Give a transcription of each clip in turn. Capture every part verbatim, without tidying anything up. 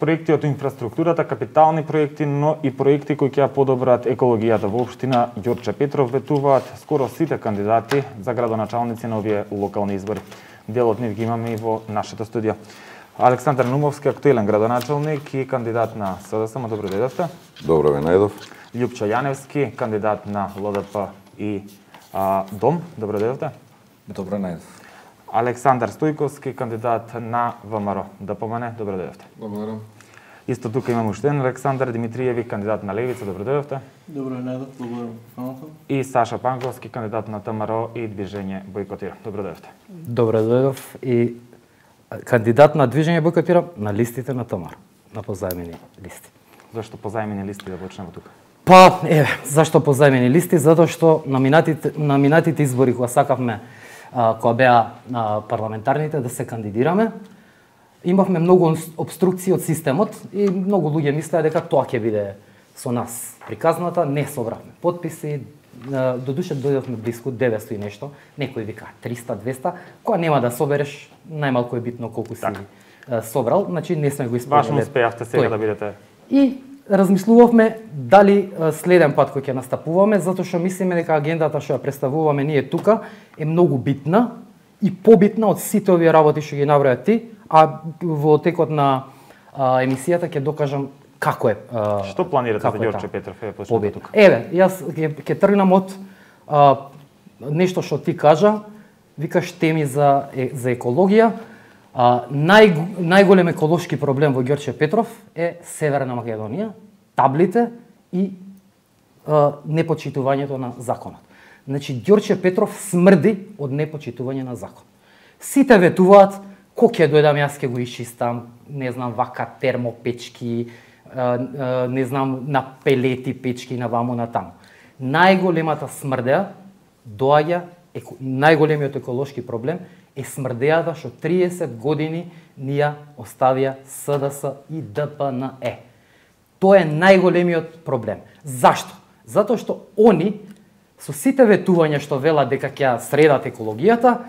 проекти од инфраструктурата, капитални проекти, но и проекти кои ќе подобрат екологијата во општина Ѓорче Петров, ветуваат скоро сите кандидати за градоначалници на овие локални избори. Дел од нив ги имаме и во нашето студио. Александар Нумовски, актуелен градоначалник и кандидат на СДСМ, добро дојдовте. Добро ве најдов. Љупчо Јаневски, кандидат на ЛДП и а, Дом, добро дојдовте. Добро најдов. Александар Стојковски, кандидат на ВМРО. Да помане, добро дојдовте. Благодарам. Исто тука имаме уште еден Александар Димитриеви, кандидат на Левица, добро дојдовте. Добро најдов, благодарам. Фаната. И Саша Панковски, кандидат на ВМРО и Движење Бојкотира. Добро дојдовте. Добро дојдов и кандидат на Движење Бојкотира на листите на ТМРО, на позајмени листи. Зашто позајмени листи да почнеме тука? Па, еве, зашто позајмени листи? Затоа што на минатите, на минатите избори кога сакавме, а, кога беа а, парламентарните да се кандидираме, имавме многу обструкции од системот и многу луѓе мислеа дека тоа ќе биде со нас приказната, не собравме потписи, до душе дојдовме близко деветстотини и нешто, некои вика триста двеста, која нема да собереш, најмалку е битно колку си така собрал, значи не сме го исполниле. Баш успеавте сега да бидете. И размислувавме дали следен пат кој ќе настапуваме, затоа што мислиме дека агендата што ја представуваме ние тука е многу битна и побитна од сите овие работи што ги наброја ти, а во текот на а, емисијата ќе докажам како е. А, што планирате за Ѓорче Петров? Еве почнете тука. Еве, јас ќе, ќе тргнам од а, нешто што ти кажа, викаш теми за е, за екологија. А, нај, најголем еколошки проблем во Ѓорче Петров е Северна Македонија, таблите и а, непочитувањето на законот. Значи, Ѓорче Петров смрди од непочитување на закон. Сите ветуваат, ко ќе дојдам, јас ќе го исчистам, не знам, вака термопечки, не знам, на пелети печки на ваму на таму. Најголемата смрдеа доаѓа, најголемиот еколошки проблем е смрдеата што триесет години ни ја оставија СДС и ДПНЕ. Тоа е најголемиот проблем. Зашто? Затоа што они со сите ветувања што велат дека ќе средат екологијата,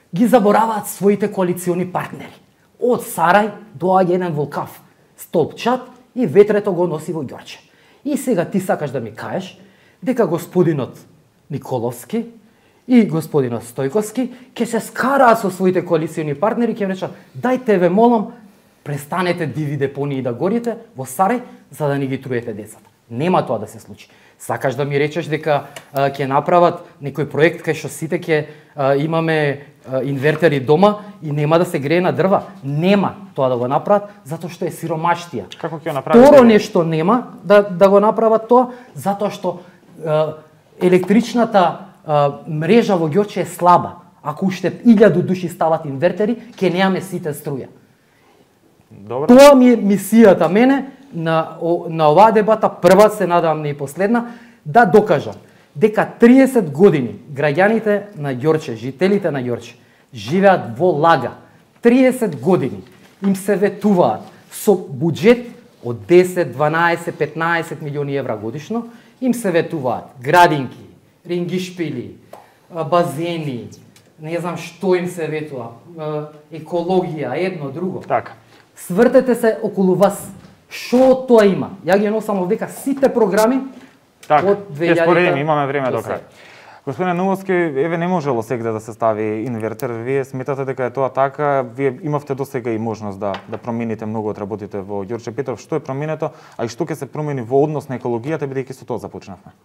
ги забораваат своите коалициони партнери. Од Сарај доаѓа еден волкав, столпчат и ветрето го носи во Ѓорче. И сега ти сакаш да ми кажеш дека господинот Николовски и господинот Стојковски ќе се скараат со своите коалициони партнери, ќе речат: "Дајте ве молам, престанете диви депонии да горите во Сарај за да не ги труете децата." Нема тоа да се случи. Сакаш да ми речеш дека а, ќе направат некој проект кај што сите ќе а, имаме а, инвертери дома и нема да се грее на дрва? Нема тоа да го направат затоа што е сиромаштија. Како ќе направат? Второ нешто нема да да го направат тоа затоа што а, електричната а, мрежа во Ѓорче е слаба. Ако уште илјаду души стават инвертери, ќе немаме сите струја. Добро. Тоа ми е мисијата мене на, на оваа дебата, прва, се надам не и последна, да докажам дека триесет години граѓаните на Ѓорче, жителите на Ѓорче, живеат во лага. триесет години им се ветуваат со буџет од десет, дванаесет, петнаесет милиони евра годишно, им се ветуваат градинки, рингишпили, базени, не знам што им се ветува, екологија, едно, друго. Така. Свртете се околу вас. Што тоа има? Ја ги носам овдека сите програми така, од две илјади. Ќе споредиме, имаме време до крај. Господине Нумовски, еве не можело сега да се стави инвертер. Вие сметате дека е тоа така? Вие имавте досега и можност да да промените многу од работите во Ѓорче Петров. Што е променето, а и што ќе се промени во однос на екологијата, бидејќи со тоа започнавме?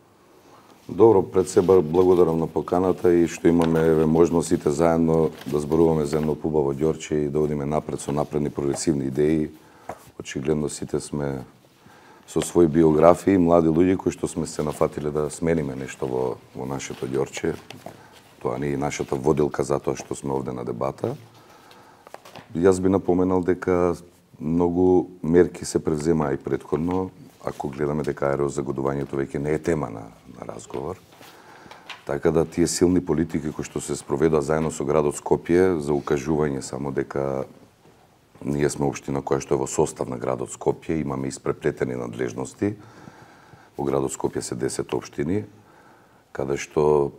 Добро, пред себе благодарам на поканата и што имаме еве можност сите заедно да зборуваме за едно пубаво Ѓорче и да одиме напред со напредни прогресивни идеи. Очигледно сите сме со своји биографии, млади луѓе кои што сме се нафатиле да смениме нешто во, во нашето Ѓорче. Тоа не е нашата водилка затоа што сме овде на дебата. Јас би напоменал дека многу мерки се превземаа и претходно, ако гледаме дека аерозагодувањето веќе не е тема на, на разговор. Така да тие силни политики кои што се спроведоа заедно со градот Скопје за укажување само дека ние сме општина која што е во состав на градот Скопје, имаме испреплетени надлежности. Во градот Скопје се десет општини, каде што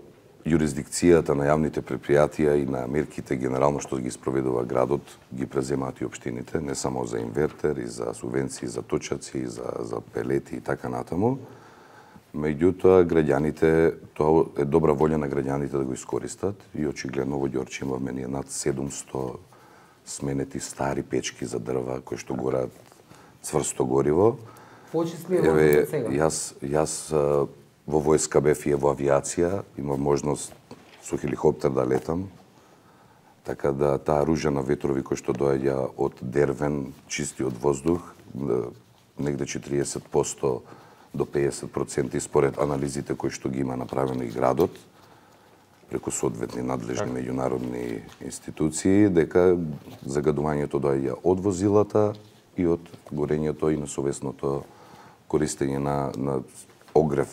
юрисдикцијата на јавните предпријатија и на мерките генерално што ги спроведува градот ги преземаат и општините, не само за инвертер, и за субвенции, за точаци, за, за пелети и така натаму. Меѓутоа, граѓаните, тоа е добра волја на граѓаните да го искористат и очигледно во Ѓорче имаме ние над седумсто сменети стари печки за дрва кои што гораат цврсто гориво. Почисли Еве, сега. јас, јас во војска бев и во авиација, имав можност со хеликоптер да летам, така да таа ружа на ветрови кој што доаѓа од Дервен, чистиот воздух, негде четириесет проценти до педесет проценти според анализите кои што ги има направено и градот, преку соодветни надлежни меѓународни институции, дека загадувањето доаѓа од возилата и од горењето и несовесното користење на, на огрев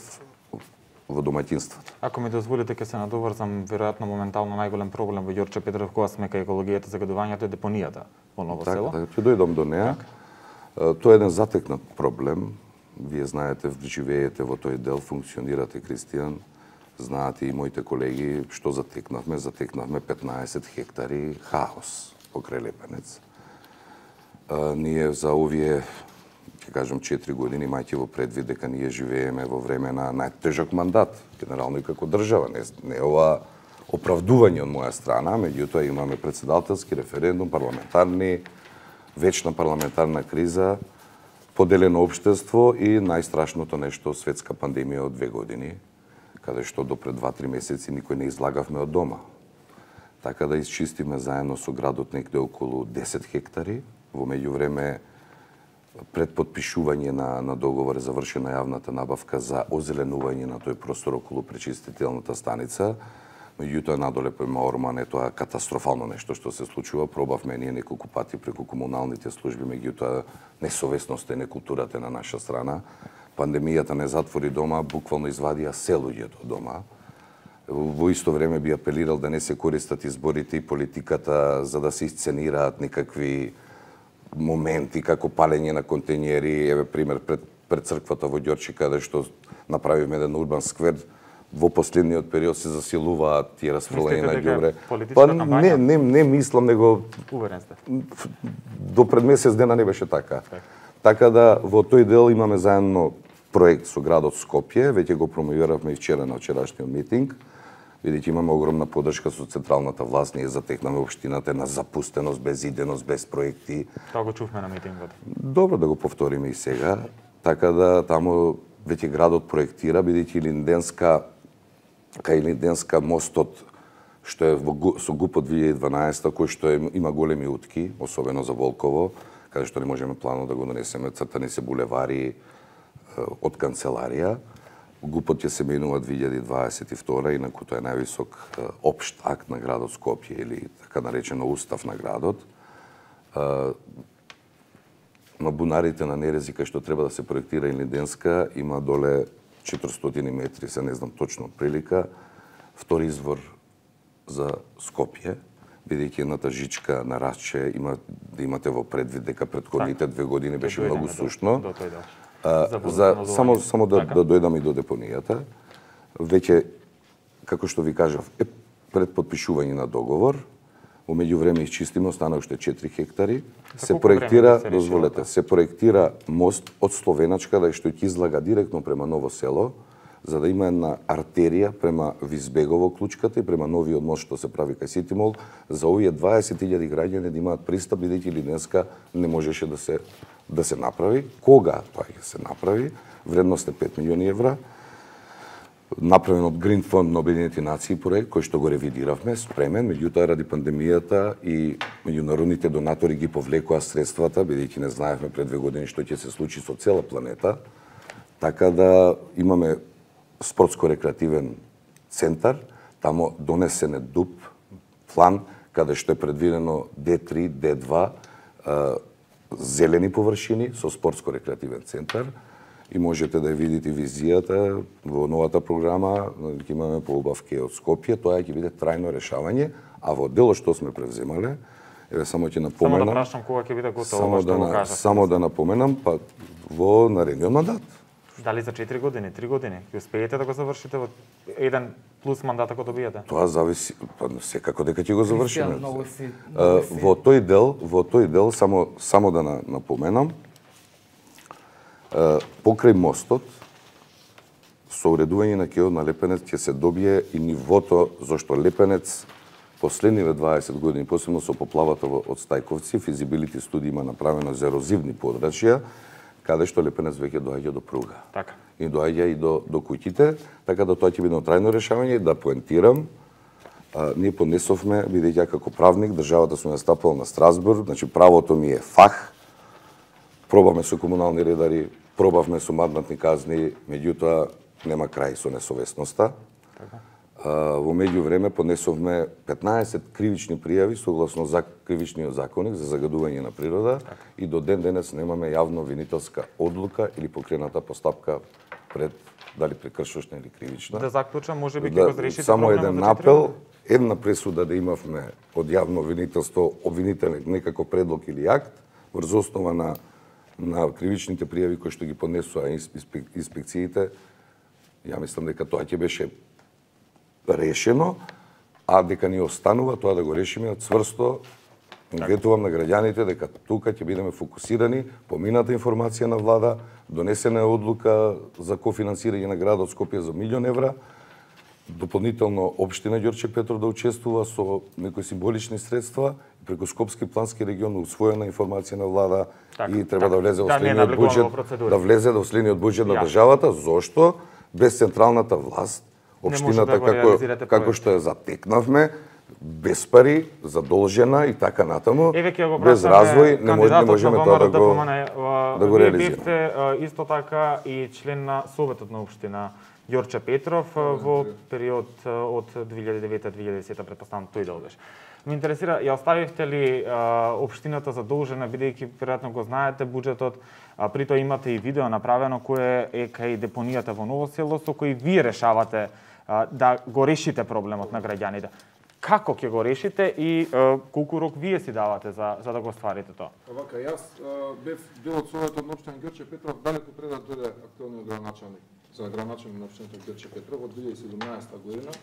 во домаќинствата. Ако ми дозволите, ќе се надоврзам, веројатно моментално најголем проблем во Ѓорче Петров кога сме кај екологијата, загадувањето е депонијата во Ново така, село. Така, ќе дојдам до неа. Тоа е еден затекнат проблем. Вие знаете, живеете во тој дел, функционирате, Кристијан. Знаате и моите колеги што затекнавме. Затекнавме петнаесет хектари хаос покрај Лепенец. А, ние за овие, ќе кажам, четири години, мајќи во предвид дека ние живееме во време на најтежок мандат, генерално и како држава. Не, не е ова оправдување од моја страна, меѓутоа имаме председателски референдум, парламентарни, вечна парламентарна криза, поделено општество и најстрашното нешто, светска пандемија од две години, каде што до пред два-три месеци никој не излагавме од дома. Така да исчистиме заедно со градот некде околу десет хектари. Во меѓувреме, пред подпишување на, на договор е завршена јавната набавка за озеленување на тој простор околу пречистителната станица. Меѓутоа, надоле према Орман е тоа катастрофално нешто што се случува. Пробавме ние неколку пати преку комуналните служби, меѓутоа несовесноста и некултурата на наша страна. Пандемијата не затвори дома, буквално извадија се луѓето дома. Во исто време би апелирал да не се користат изборите и политиката за да се исценираат некакви моменти како палење на контењери. Еве пример пред пред црквата во Ѓорче, каде што направивме еден урбан сквер, во последниот период се засилуваат тие расфрлања на ѓубре. Па не, не, не мислам, него Уверен сте. До пред месец дена не беше така. Так. Така да во тој дел имаме заедно проект со градот Скопје, веќе го промовиравме и вчера на вчерашниот митинг. Видите, имаме огромна поддршка со централната власт, ние затекнаме општината на запустеност, без иденост, без проекти. Тоа го чувме на митингот. Добро да го повториме и сега, така да таму веќе градот проектира, бидејќи Линденска, кај Линденска мостот, што е во, со ГУП од две илјади и дванаесета, кој што е, има големи утки, особено за Волково, каде што не можеме плано да го донесеме, цртани се булевари од канцеларија. ГУПот ќе се менува две илјади дваесет и втора, инаку тоа е највисок општ акт на градот Скопје или така наречено устав на градот. На бунарите на Нерези, кај што треба да се проектира и Линденска, има доле четиристотини метри, се не знам точно прилика, втори извор за Скопје, бидејќи едната жичка на Расче има да имате во предвид дека претходните две години беше многу сушно. До, до тој дел. А, за само само да, да дојдам и до депонијата. Веќе, како што ви кажав, е пред подпишување на договор, во меѓувреме исчистиме, остана уште четири хектари. Се проектира, се дозволете, се проектира мост од Словеначка, да што ќе излага директно према Ново село, за да има една артерија према Визбегово клучката и према новиот мост што се прави кај Ситимол, за овие дваесет илјади граѓани да имаат пристап, бидејќи Линденска не можеше да се да се направи. Кога тоа ќе се направи? Вредност е пет милиони евра. Направен од Green Fund на Обединените нации проект, кој што го ревидиравме, спремен, меѓутоа ради пандемијата и меѓународните донатори ги повлекоа средствата, бидејќи не знаевме пред две години што ќе се случи со цела планета. Така да имаме спортско-рекреативен центар, тамо донесен е ДУП, план, каде што е предвидено Д три, Д два, зелени површини со спортско-рекреативен центар и можете да ја видите визијата во новата програма, ќе имаме поубавки од Скопје, тоа ќе биде трајно решавање, а во делот што сме превземале, еве само ќе напоменам. Само да прашам кога ќе биде готово само ова што да, го кажав. Само да напоменам, па во наредниот мандат. Дали за четири години, три години? Ќе успеете да го завршите во еден плюс мандата кој добиете? Тоа зависи, па секако дека ќе го завршиме. Многу си, многу си. Во тој дел, во тој дел само само да напоменам, покрај мостот со уредување на кеот на Лепенец ќе се добие и нивото зашто Лепенец последниве дваесет години, посебно со поплавата од Стајковци, физибилити студии има направено за ерозивни подрачја, каде што Лепенец веќе доаѓа до пруга. Така. И доаѓа и до, до куќите, така да тоа ќе биде трајно решавање. Да поентирам, а, ние понесовме, бидејќи како правник, државата сме настапала на Страсбург, значи правото ми е фах, пробаме со комунални редари, пробавме со мандатни казни, меѓутоа нема крај со несовесноста. Така. Во меѓувреме поднесовме петнаесет кривични пријави согласно за кривичниот законник за загадување на природа, така. И до ден денес немаме јавно обвинителска одлука или покрената постапка пред дали прекршочна или кривична. Да заклучам, можеби ќе да, го разрешите само проблемот еден за апел, една пресуда да имавме од јавно обвинителство, обвинителен некако предлог или акт врз основа на на кривичните пријави кои што ги поднесува инспекциите. Ја мислам дека тоа ќе беше решено, а дека ни останува тоа да го решиме цврсто. Ветувам на граѓаните дека тука ќе бидеме фокусирани, помината информација на влада, донесена е одлука за кофинансирање на градот Скопје за милион евра, дополнително општина Ѓорче Петров да учествува со некои символични средства, преку Скопски плански регион усвоена информација на влада так, и треба так, да влезе во следниот буџет, да влезе во следниот буџет на државата, зошто без централната власт општината да како како што ја затекнавме, без пари, задолжена и така натаму, без развој не, може, не можеме тоа да го да го реализираме. Вие бевте исто така и член на Советот на општина Ѓорче Петров во период од две илјади и девета до две илјади и десета, претпоставам тој дел беше. Ме интересира, ја оставивте ли а, општината задолжена, бидејќи веројатно го знаете буџетот, а при тоа имате и видео направено кое е кај депонијата во Ново село, со кој вие решавате а, да го решите проблемот на граѓаните. Како ќе го решите и а, колку рок вие си давате за, за да го стварите тоа? Овака, јас а, бев дел од Советот на општина Ѓорче Петров далеку пред да дојде актуелниот градоначалник за градоначалник на општината Ѓорче Петров од две илјади и седумнаесета година.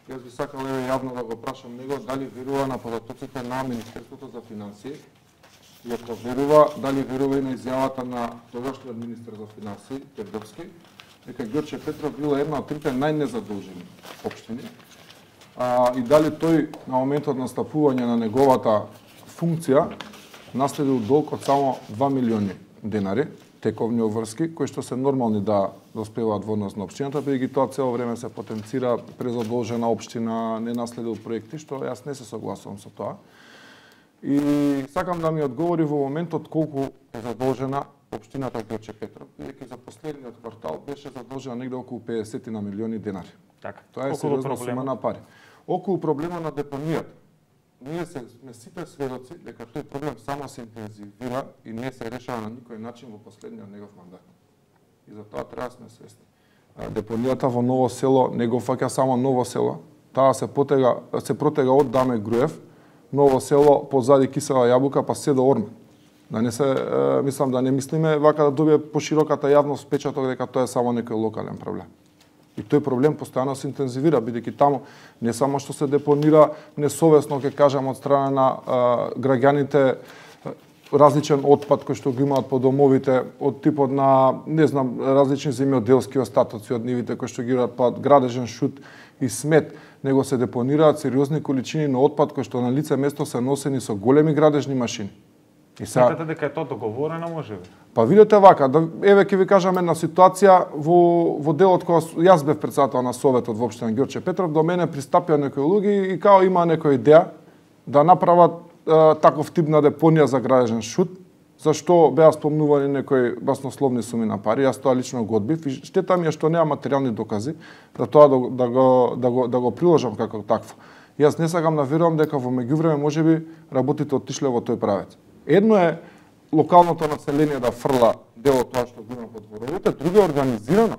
Јас би сакал еве јавно да го прашам него дали верува на податоците на Министерството за финансии и ако верува, дали верува и на изјавата на тогашниот министер за финансии Тердовски, дека Ѓорче Петров била една од трите најнезадолжени општини. А, и дали тој на моментот на настапување на неговата функција наследил долг од само два милиони денари, тековни обврски, кои што се нормални да доспеваат во однос на општината, бидејќи тоа цело време се потенцира презадолжена општина, не наследил проекти, што јас не се согласувам со тоа. И сакам да ми одговори во моментот колку е задолжена општината Ѓорче Петров, бидејќи за последниот квартал беше задолжена негде околу педесет на милиони денари. Така. Тоа е сериозна сума на пари. Околу проблема на депонијата. Ние се, сме сите сведоци дека тој проблем само се интензивира и не се решава на никој начин во последниот негов мандат. И за тоа треба да сме свесни. Депонијата во Ново село не го фаќа само Ново село, таа се потега се протега од Даме Груев, Ново село позади Кисела Јабука па се до Орман. Да не се е, мислам да не мислиме вака да добие пошироката јавност впечаток дека тоа е само некој локален проблем. И тој проблем постојано се интензивира, бидејќи таму не само што се депонира несовесно, ќе кажам, од страна на а, граѓаните различен отпад кој што го имаат по домовите, од типот на, не знам, различни земјоделски остатоци од нивите кои што ги имаат градежен шут и смет, него се депонираат сериозни количини на отпад кои што на лице место се носени со големи градежни машини. И сега... Сметате дека е тоа договорено, можеби? Па видете вака, да, еве ќе ви кажам една ситуација во, во делот кога јас бев председател на Советот во општина Ѓорче Петров, до мене пристапија некои луѓе и као има некоја идеја да направат е, таков тип на депонија за градежен шут, зашто беа спомнувани некои баснословни суми на пари, јас тоа лично го одбив и штета ми е што нема материјални докази да тоа да, да, го, да, го, да го приложам како такво. Јас не сакам да верувам дека во меѓувреме можеби работите отишле во тој правец. Едно е локалното население да фрла дел од тоа што го има по дворовите, друго е организирано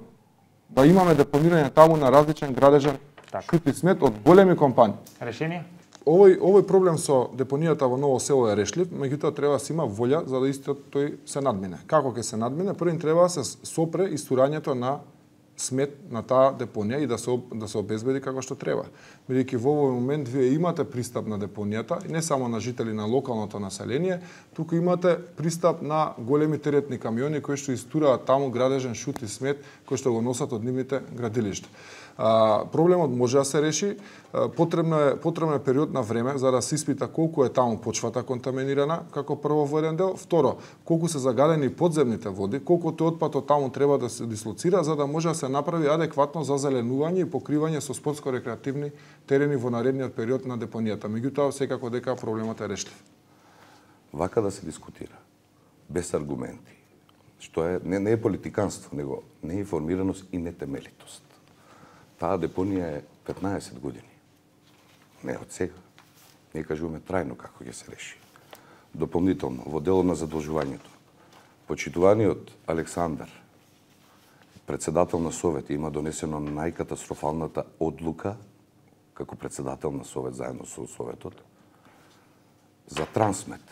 да имаме депонирање таму на различен градежен шут и смет од големи компании. Решение? овој овој проблем со депонијата во Ново село е решлив, меѓутоа треба да се има волја за да истиот тој се надмине. Како ќе се надмине? Првин треба да се сопре истурањето на смет на таа депонија и да се да се обезбеди како што треба. Бидејќи во овој момент вие имате пристап на депонијата, и не само на жители на локалното население, туку имате пристап на големи теретни камиони кои што истураат таму градежен шут и смет кои што го носат од нивните градилишта. А, проблемот може да се реши, а, потребно е потребно е период на време за да се испита колку е таму почвата контаминирана, како прво во еден дел, второ, колку се загадени подземните води, колку тој отпад од таму треба да се дислоцира за да може да се направи адекватно зазеленување и покривање со спортско-рекреативни терени во наредниот период на депонијата. Меѓутоа, секако дека проблемот е решлив. Вака да се дискутира, без аргументи, што е не, не е политиканство, него не е информираност и нетемелитост. Таа депонија е петнаесет години. Не од сега. Не кажуваме трајно како ќе се реши. Дополнително, во делот на задолжувањето, почитуваниот Александар, председател на Совет, има донесено најкатастрофалната одлука како председател на Совет заедно со Советот за Трансмет.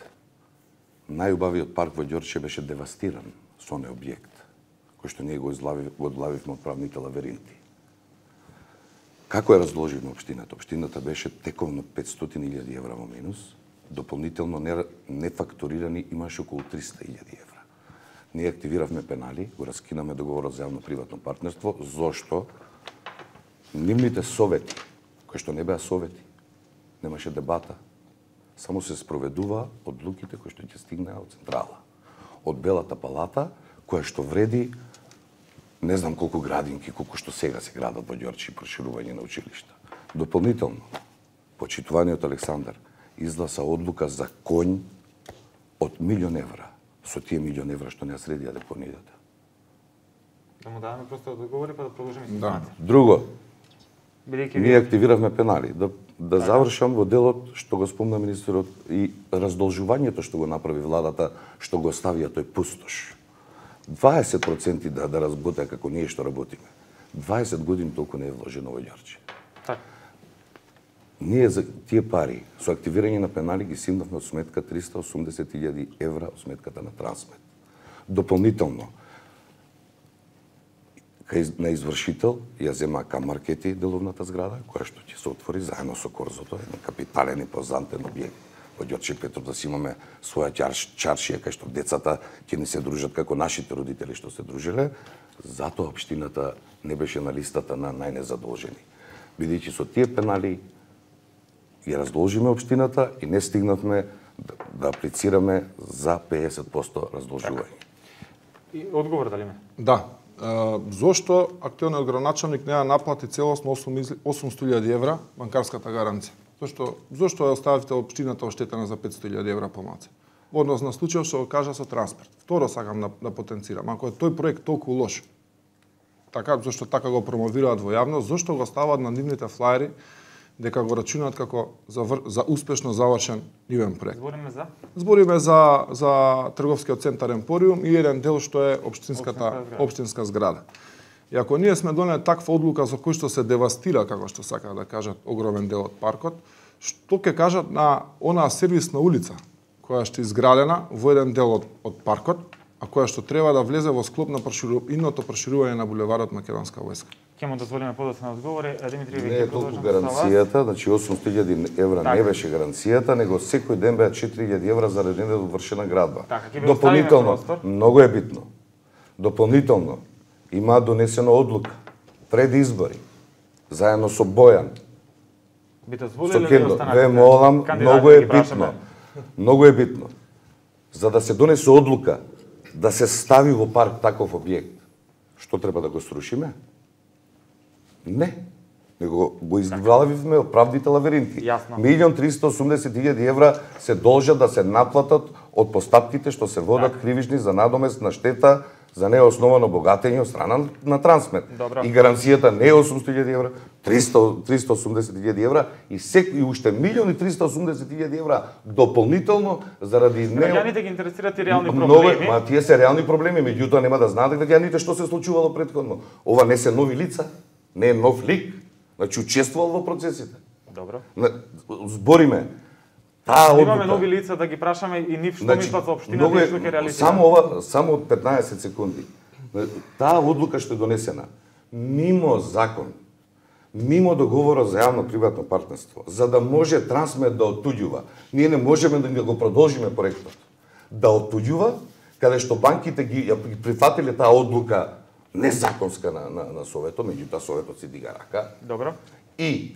Најубавиот парк во Ѓорче беше девастиран со оној објект, кој што ние го излавивме од правните лавиринти. Како е разложена општината? Општината беше тековно петстотини илјади евра во минус, дополнително не, не факторирани имаше околу триста илјади евра. Ние активиравме пенали, го раскинаме договорот за јавно-приватно партнерство, зошто нивните совети, кои што не беа совети, немаше дебата, само се спроведува одлуките кои што ќе стигнаа од централа, од Белата палата, која што вреди не знам колку градинки, колку што сега се градат во Ѓорче и проширување на училишта. Дополнително, почитуваниот Александар изгласа одлука за конј од милион евра, со тие милион евра што не ја средија депонијата. Да му даваме просто да договори па да продолжиме Да. информација. Друго, Бидејќи ние активиравме пенали. Да, да завршам во делот што го спомна министерот и раздолжувањето што го направи владата, што го ставија тој пустош. дваесет проценти да, да разботеа како ние што работиме. дваесет години толку не е вложено во Ѓорче. Така. Ние за тие пари, со активирање на пенали, ги симнавме од сметка триста и осумдесет илјади евра од сметката на Трансмет. Дополнително, кај на извршител ја зема Камаркети деловната зграда, која што ќе се отвори заедно со Корзото, еден капитален и позантен објект во Ѓорче Петров, да си имаме своја чарш, чаршија, кај што децата ќе ни се дружат како нашите родители што се дружиле. Затоа општината не беше на листата на најнезадолжени. Бидејќи со тие пенали ја раздолжиме општината и не стигнавме да, да аплицираме за педесет проценти раздолжување. И одговор дали ме? Да. Uh, зошто актуелниот градоначалник не ја наплати целосно осумстотини илјади евра банкарската гаранција? Зошто зошто ја оставивте општината оштетена за петстотини илјади евра помалку? Во однос на случајот што го кажа со транспорт. Второ сакам да, да потенцирам, ако е тој проект толку лош, така зошто така го промовираат во јавност, зошто го ставаат на нивните флаери дека го рачунаат како за, за успешно завршен нивен проект? Збориме за Збориме за за трговскиот центар Емпориум и еден дел што е општинската општинска зграда. И ако ние сме донели таква одлука за кој што се девастира, како што сака да кажат, огромен дел од паркот, што ќе кажат на онаа сервисна улица која што е изградена во еден дел од, од паркот, а која што треба да влезе во склоп на проширу... инното проширување на булеварот Македонска војска? ќе му дозволиме подоцна одговори. Димитри, Не е толку гаранцијата, значи осумстотини илјади евра така не беше гаранцијата, него секој ден беа четири илјади евра за недовршена градба. Така, дополнително, многу е битно. Дополнително има донесена одлука пред избори заедно со Бојан. Би Со дозволиле да Кендо, останат? ве молам, многу е битно. Многу е битно. За да се донесе одлука да се стави во парк таков објект, што треба да го срушиме? Не. Него го изглавивме од правдите лавиринти. Милион триста и осумдесет илјади евра се должат да се наплатат од постапките што се водат так. Кривични за надомест на штета за неосновано богатење од страна на Трансмет. Добро. И гаранцијата не е осумстотини илјади евра, триста и осумдесет илјади евра и секој уште милион и триста и осумдесет илјади евра дополнително заради не Граѓаните ги интересираат и реални Много, проблеми. Ма тие се реални проблеми, меѓутоа нема да знаат граѓаните што се случувало претходно. Ова не се нови лица, не е нов лик, значи учествувал во процесите. Добро. Збориме. Таа Имаме одлука. нови лица да ги прашаме и нив што Значи, мислат за општината многу и е- што ќе реализира. Само ова, само петнаесет секунди. Таа одлука што е донесена мимо закон, мимо договора за јавно-приватно партнерство, за да може Трансмед да оттуѓува. Ние не можеме да го продолжиме проектот. Да оттуѓува, каде што банките ги ја прифатиле таа одлука незаконска на, на, на Советот, меѓутоа Советот си дига рака, Добро. и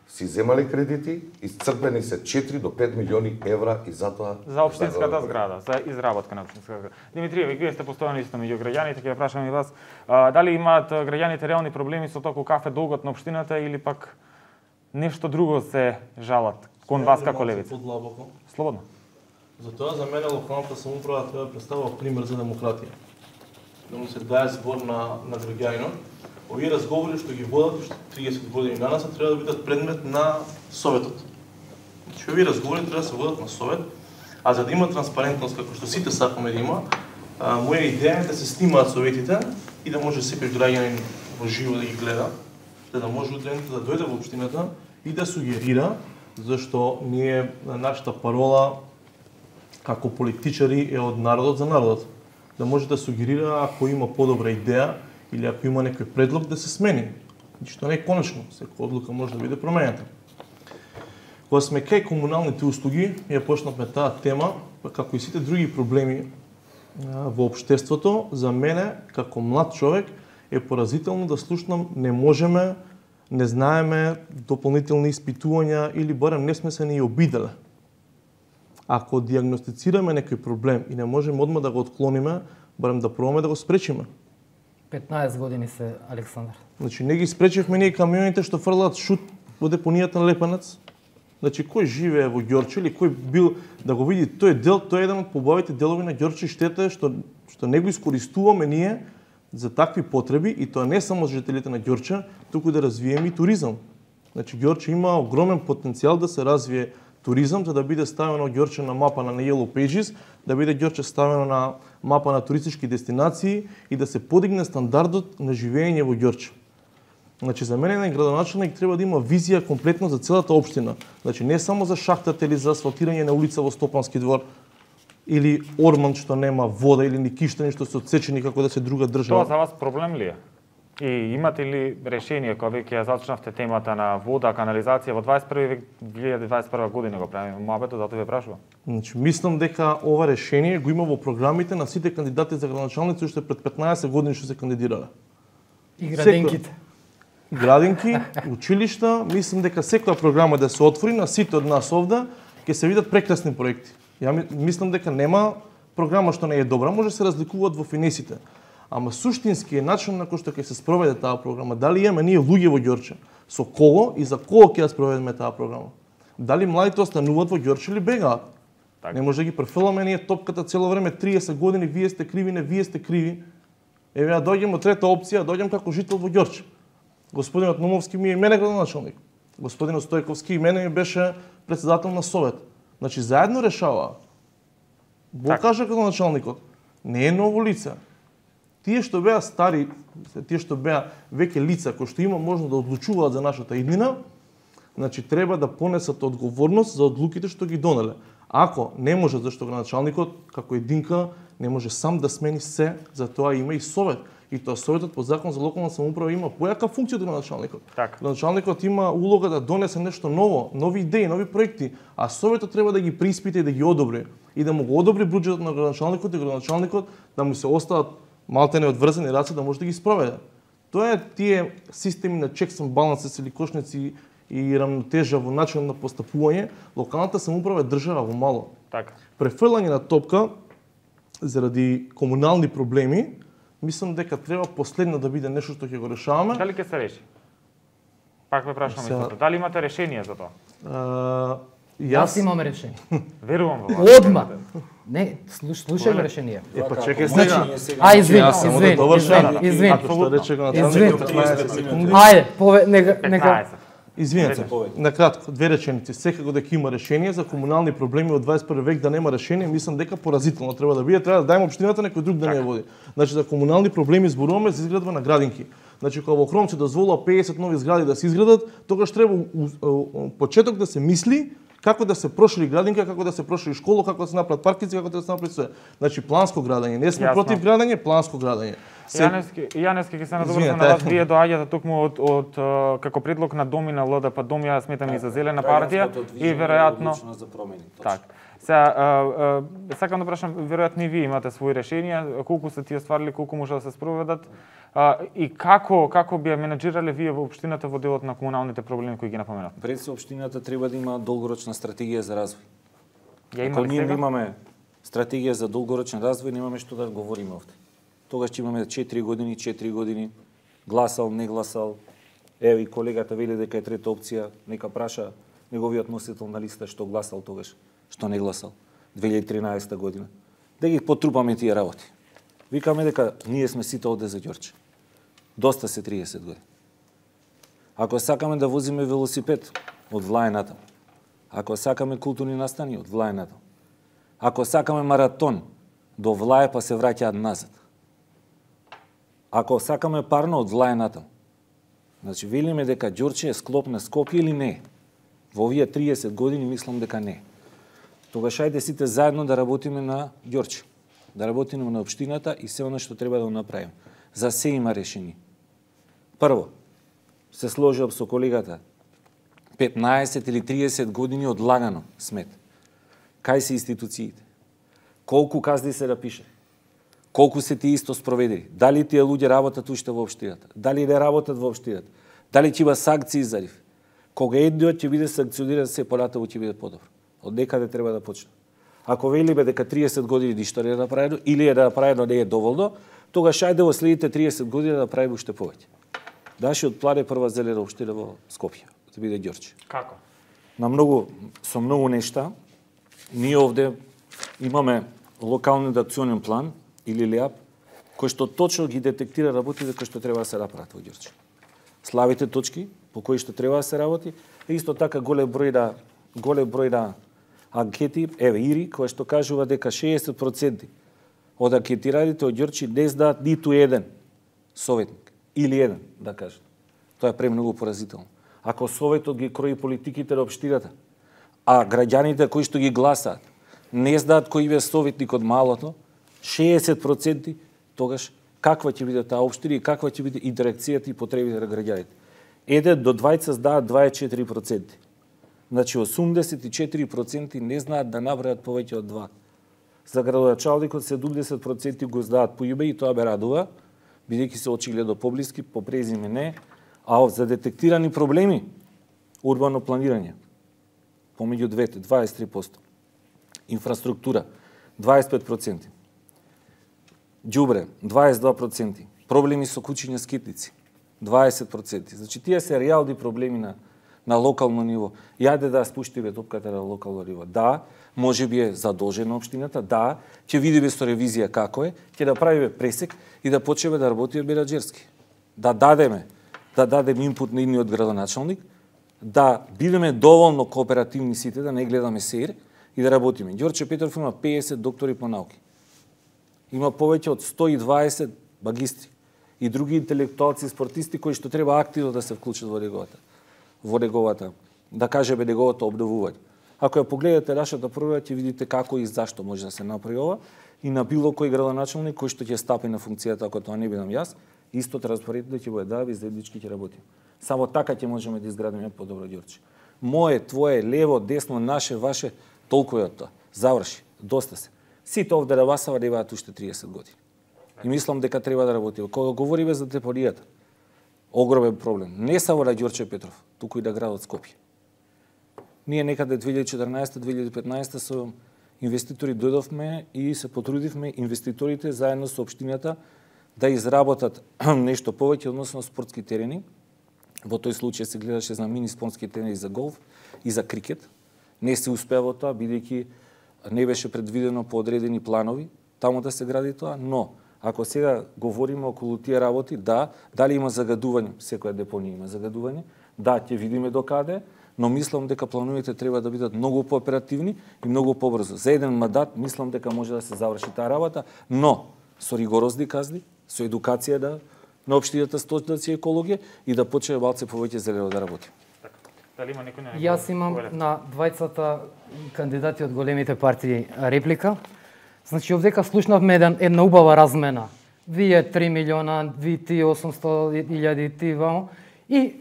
си земале кредити, исцрпени се четири до пет милиони евра и затоа За општинската зграда, за изработка на општинската зграда. Димитриеве, вие сте постојано исто меѓу граѓаните, ќе ја прашам и вас, а, дали имаат граѓаните реални проблеми со тоа кафе долгот на општината или пак нешто друго се жалат кон вас како левица? Подлабоко. Слободно. Затоа за мене локалната самоуправа треба да представува пример за демократија. Да му се даде збор на, на граѓанинот. Овие разговори што ги водат уште триесет години данас треба да бидат предмет на Советот. Значи овие разговори треба да се водат на Совет, а за да има транспарентност како што сите сакаме да има, а, моја идеја е да се снимаат советите и да може секој граѓанин во живо да ги гледа, за да може утре да дојде во општината и да сугерира, зашто ние нашата парола како политичари е од народот за народот. Да може да сугерира ако има подобра идеја или ако има некој предлог да се смени. Ништо не е конечно, секоја одлука може да биде променета. Кога сме кај комуналните услуги, ја почнавме таа тема, како и сите други проблеми во општеството, за мене, како млад човек, е поразително да слушнам не можеме, не знаеме дополнителни испитувања или барем не сме се ни обиделе. Ако диагностицираме некој проблем и не можеме одма да го отклониме, барем да пробаме да го спречиме. петнаесет години се, Александар. Значи, не ги спречивме ние камионите што фрлаат шут во депонијата на Лепенец. Значи, кој живее во Ѓорче или кој бил да го види тој дел, тој е еден од побавите делови на Ѓорче, штета е што, што не го искористуваме ние за такви потреби и тоа не само за жителите на Ѓорче, туку да развиеме и туризам. Значи, Ѓорче има огромен потенцијал да се развие туризам, за да биде ставено Ѓорче на мапа на Yellow Pages, да биде Ѓорче ставено на мапа на туристички дестинации и да се подигне стандардот на живење во Ѓорче. Значи, за мене еден градоначелник треба да има визија комплетно за целата општина. Значи, не само за шахтата или за асфалтирање на улица во Стопански двор, или Орман што нема вода, или ни киштани што се отсечени како да се друга држава. Тоа за вас проблем ли е? И имате ли решение, кога веќе ја зачнавте темата на вода, канализација во дваесет и први век, две илјади дваесет и прва година го правиме моабето, затоа ве прашувам. Значи, мислам дека ова решение го има во програмите на сите кандидати за градоначалници уште пред петнаесет години што се кандидирале. И градинките. Градинки, училишта, мислам дека секоја програма да се отвори на сите од нас овде, ќе се видат прекрасни проекти. Ја мислам дека нема програма што не е добра, може да се разликуваат во финесите. Ама суштински е начин на кој што ќе се спроведе таа програма. Дали имаме ние луѓе во Ѓорче? Со кого и за кого ќе ја спроведеме таа програма? Дали младите остануваат во Ѓорче или бегаат? Так. Не може да ги префрламе ние топката цело време триесет години, вие сте криви, не вие сте криви. Еве ја доаѓам од трета опција, доаѓам како жител во Ѓорче. Господинот Номовски ми е мене градоначалник. Господинот Стојковски и мене ми беше председател на совет. Значи заедно решаваа. Бо Так. кажа градоначалникот, не е ново лице. Тие што беа стари, тие што беа веќе лица кои што има можност да одлучуваат за нашата иднина, значи треба да понесат одговорност за одлуките што ги донеле. Ако не може, зашто градоначалникот како единка не може сам да смени се, за тоа има и совет. И тоа советот по закон за локална самоуправа има појака функција од градоначалникот. Така. Градоначалникот има улога да донесе нешто ново, нови идеи, нови проекти, а советот треба да ги преиспита и да ги одобри. И да му го одобри буџетот на градоначалникот и градоначалникот да му се остават малте неодврзани раце да може да ги спроведе. Тоа е тие системи на checks and balances или кошници и рамнотежа во начин на постапување, локалната самоуправа е држава во мало. Така. Префрлање на топка заради комунални проблеми, мислам дека треба последно да биде нешто што ќе го решаваме. Дали ќе се реши? Пак ве прашувам Сега- истото. Дали имате решение за тоа? А, Јас јас имам решение. Верувам во вас. Одма. Не, слуш, слушај ме решение. Е, па чекај Значи, сега. а извини, Јас само да извини, довршам. извини, извини. Ако што рече го Извини. началникот петнаесет секунди. Ајде, пове, нека, нека. петнаесет. Извинете, накратко, две реченици. Секако дека има решение за комунални проблеми од дваесет и први век да нема решение, мислам дека поразително треба да биде, треба да дајме општината некој друг да не ја води. Значи за комунални проблеми зборуваме за изградба на градинки. Значи кога во Хромче дозволува педесет нови згради да се изградат, тогаш треба почеток да се мисли како да се прошири градинка, како да се прошири школа, како да се направат паркици, како да се направи све. Значи планско градење, не сме Јасно. против градење, планско градење. Се... Јанески, Јанески ќе се надоврзам на вас, вие доаѓате токму од, од, од како предлог на Доми на ЛДП, Дом ја сметам и за Зелена партија и веројатно за промени. Так. Сега, сакам да прашам, веројатно и вие имате своји решенија, колку се тие стварили, колку може да се спроведат а, и како како би ја менеджирале вие во општината во делот на комуналните проблеми кои ги напоменавте? Пред се општината треба да има долгорочна стратегија за развој. Ја Ако имаме ние сега? имаме стратегија за долгорочен развој, немаме што да говориме овде. Тогаш ќе имаме четири години, четири години, гласал, не гласал. Ево и колегата вели дека е трета опција, нека праша неговиот носител на листа што гласал тогаш, што не гласал, две илјади и тринаесетта година. Да ги потрупаме тие работи. Викаме дека ние сме сите овде за Ѓорче. Доста се триесет години. Ако сакаме да возиме велосипед, од влаената. Ако сакаме културни настани, од влаената. Ако сакаме маратон, до влае па се враќаат назад. Ако сакаме парно, од влаената. Значи, велиме дека Ѓорче е склоп на Скопје или не? Во овие триесет години мислам дека не. Тогаш ајде сите заедно да работиме на Ѓорче. Да работиме на општината и се оно што треба да направиме. За се има решение. Прво, се сложив со колегата, петнаесет или триесет години одлагано смет. Кај се институциите? Колку казни се да пише? Колку се тие исто спроведени? Дали тие луѓе работат уште во општината? Дали не работат во општината? Дали ќе има санкции за нив? Кога едниот ќе биде санкциониран, се понатаму ќе биде подобро. Од некаде треба да почне. Ако велиме дека триесет години ништо не е направено или е направено не е доволно, тогаш ајде во следните триесет години да направиме уште повеќе. Нашиот план е прва зелена општина во Скопје, да биде Ѓорче. Како? На многу со многу нешта. Ние овде имаме локален акционен план или ЛЕАП, кој што точно ги детектира работите кои што треба да се направат во Ѓорче. Слабите точки по кои што треба да се работи, е исто така голем број на голем број на анкети, еве Ири, кој што кажува дека шеесет проценти од анкетираните од Ѓорче не знаат ниту еден советник или еден, да кажат. Тоа е премногу поразително. Ако советот ги крои политиките на општината, а граѓаните кои што ги гласаат не знаат кој е советник од малото, шеесет проценти, тогаш каква ќе биде таа општина и каква ќе биде интеракцијата и потребите на граѓаните. Еден до двајца знаат дваесет и четири проценти. Значи осумдесет и четири проценти не знаат да набрајат повеќе од два. За градоначалникот седумдесет проценти го знаат по име и тоа ме радува, бидејќи се очигледно поблиски, по презиме не, а за детектирани проблеми, урбано планирање, помеѓу двете, дваесет и три проценти. Инфраструктура, дваесет и пет проценти. Ѓубре, дваесет и два проценти. Проблеми со кучиња скитници, дваесет проценти. Значи, тие се реални проблеми на, на локално ниво. Јаде да спуштиме топката на локално ниво. Да, може би е задолжена општината, да, ќе видиме со ревизија како е, ќе направиме пресек и да почнеме да работиме менаџерски. Да дадеме, да дадеме инпут на идниот градоначалник, да бидеме доволно кооперативни сите, да не гледаме сеир и да работиме. Ѓорче Петров има педесет доктори по науки. Има повеќе од сто и дваесет магистри и други интелектуалци и спортисти кои што треба активно да се вклучат во неговата, во неговата, да кажеме, неговото обновување. Ако ја погледате нашата програма, ќе видите како и зашто може да се направи ова и на било кој градоначалник кој што ќе стапи на функцијата, ако тоа не бидам јас, исто транспарентно ќе бъде да, и заеднички ќе работиме. Само така ќе можеме да изградиме подобро Ѓорче. Мое, твое, лево, десно, наше, ваше, толку е од тоа. Заврши, доста се. Сите овде на Васава немаат уште триесет години. И мислам дека треба да работиме. Кога говориме за депонијата, огромен проблем. Не само на Ѓорче Петров, туку и на градот Скопје. Ние некаде две илјади и четрнаесетта две илјади и петнаесетта со инвеститори дојдовме и се потрудивме инвеститорите заедно со општината да изработат нешто повеќе односно спортски терени. Во тој случај се гледаше за мини спортски терени за голф и за крикет. Не се успеа во тоа, бидејќи не беше предвидено по одредени планови таму да се гради тоа, но ако сега говориме околу тие работи, да, дали има загадување, секоја депонија има загадување, да, ќе видиме докаде, но мислам дека плановите треба да бидат многу пооперативни и многу побрзо. За еден мандат мислам дека може да се заврши таа работа, но со ригорозни казни, со едукација на на општината Столици и екологија и да почне малце повеќе зелено да работи. Така. Дали има некој на Јас имам на двајцата кандидати од големите партии реплика. Значи, овдека слушнавме еден, една убава размена. Вие три милиона, ви ти осумсто илјади, ти вамо. И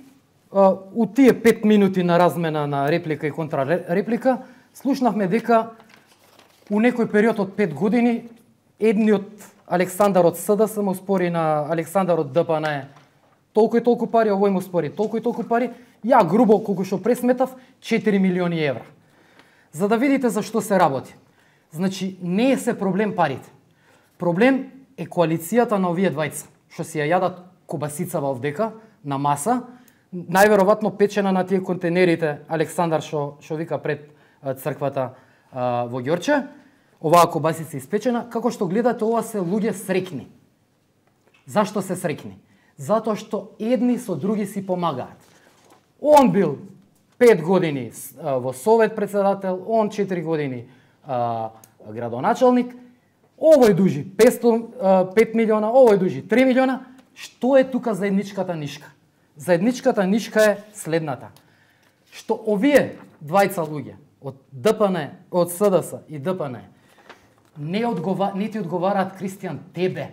а, у тие пет минути на размена на реплика и контрареплика, слушнавме дека у некој период од пет години едниот Александар од СДС му спори на Александар од ДПН толку и толку пари, овој му спори толку и толку пари, ја грубо колку што пресметав четири милиони евра. За да видите за што се работи. Значи, не е се проблем парите. Проблем е коалицијата на овие двајца, што си ја јадат кобасицава овдека на маса, најверојатно печена на тие контейнерите Александар што што вика пред црквата а, во Ѓорче. Оваа кобасица испечена, како што гледате, ова се луѓе среќни. Зашто се среќни? Затоа што едни со други си помагаат. Он бил пет години а, во Совет председател, он четири години а, градоначалник, овој дужи петстотини, пет милиона, овој дужи три милиона. Што е тука заедничката нишка? Заедничката нишка е следната. Што овие двајца луѓе од ДПН, од СДС и ДПН не одгова, не ти одговараат, Кристијан, тебе.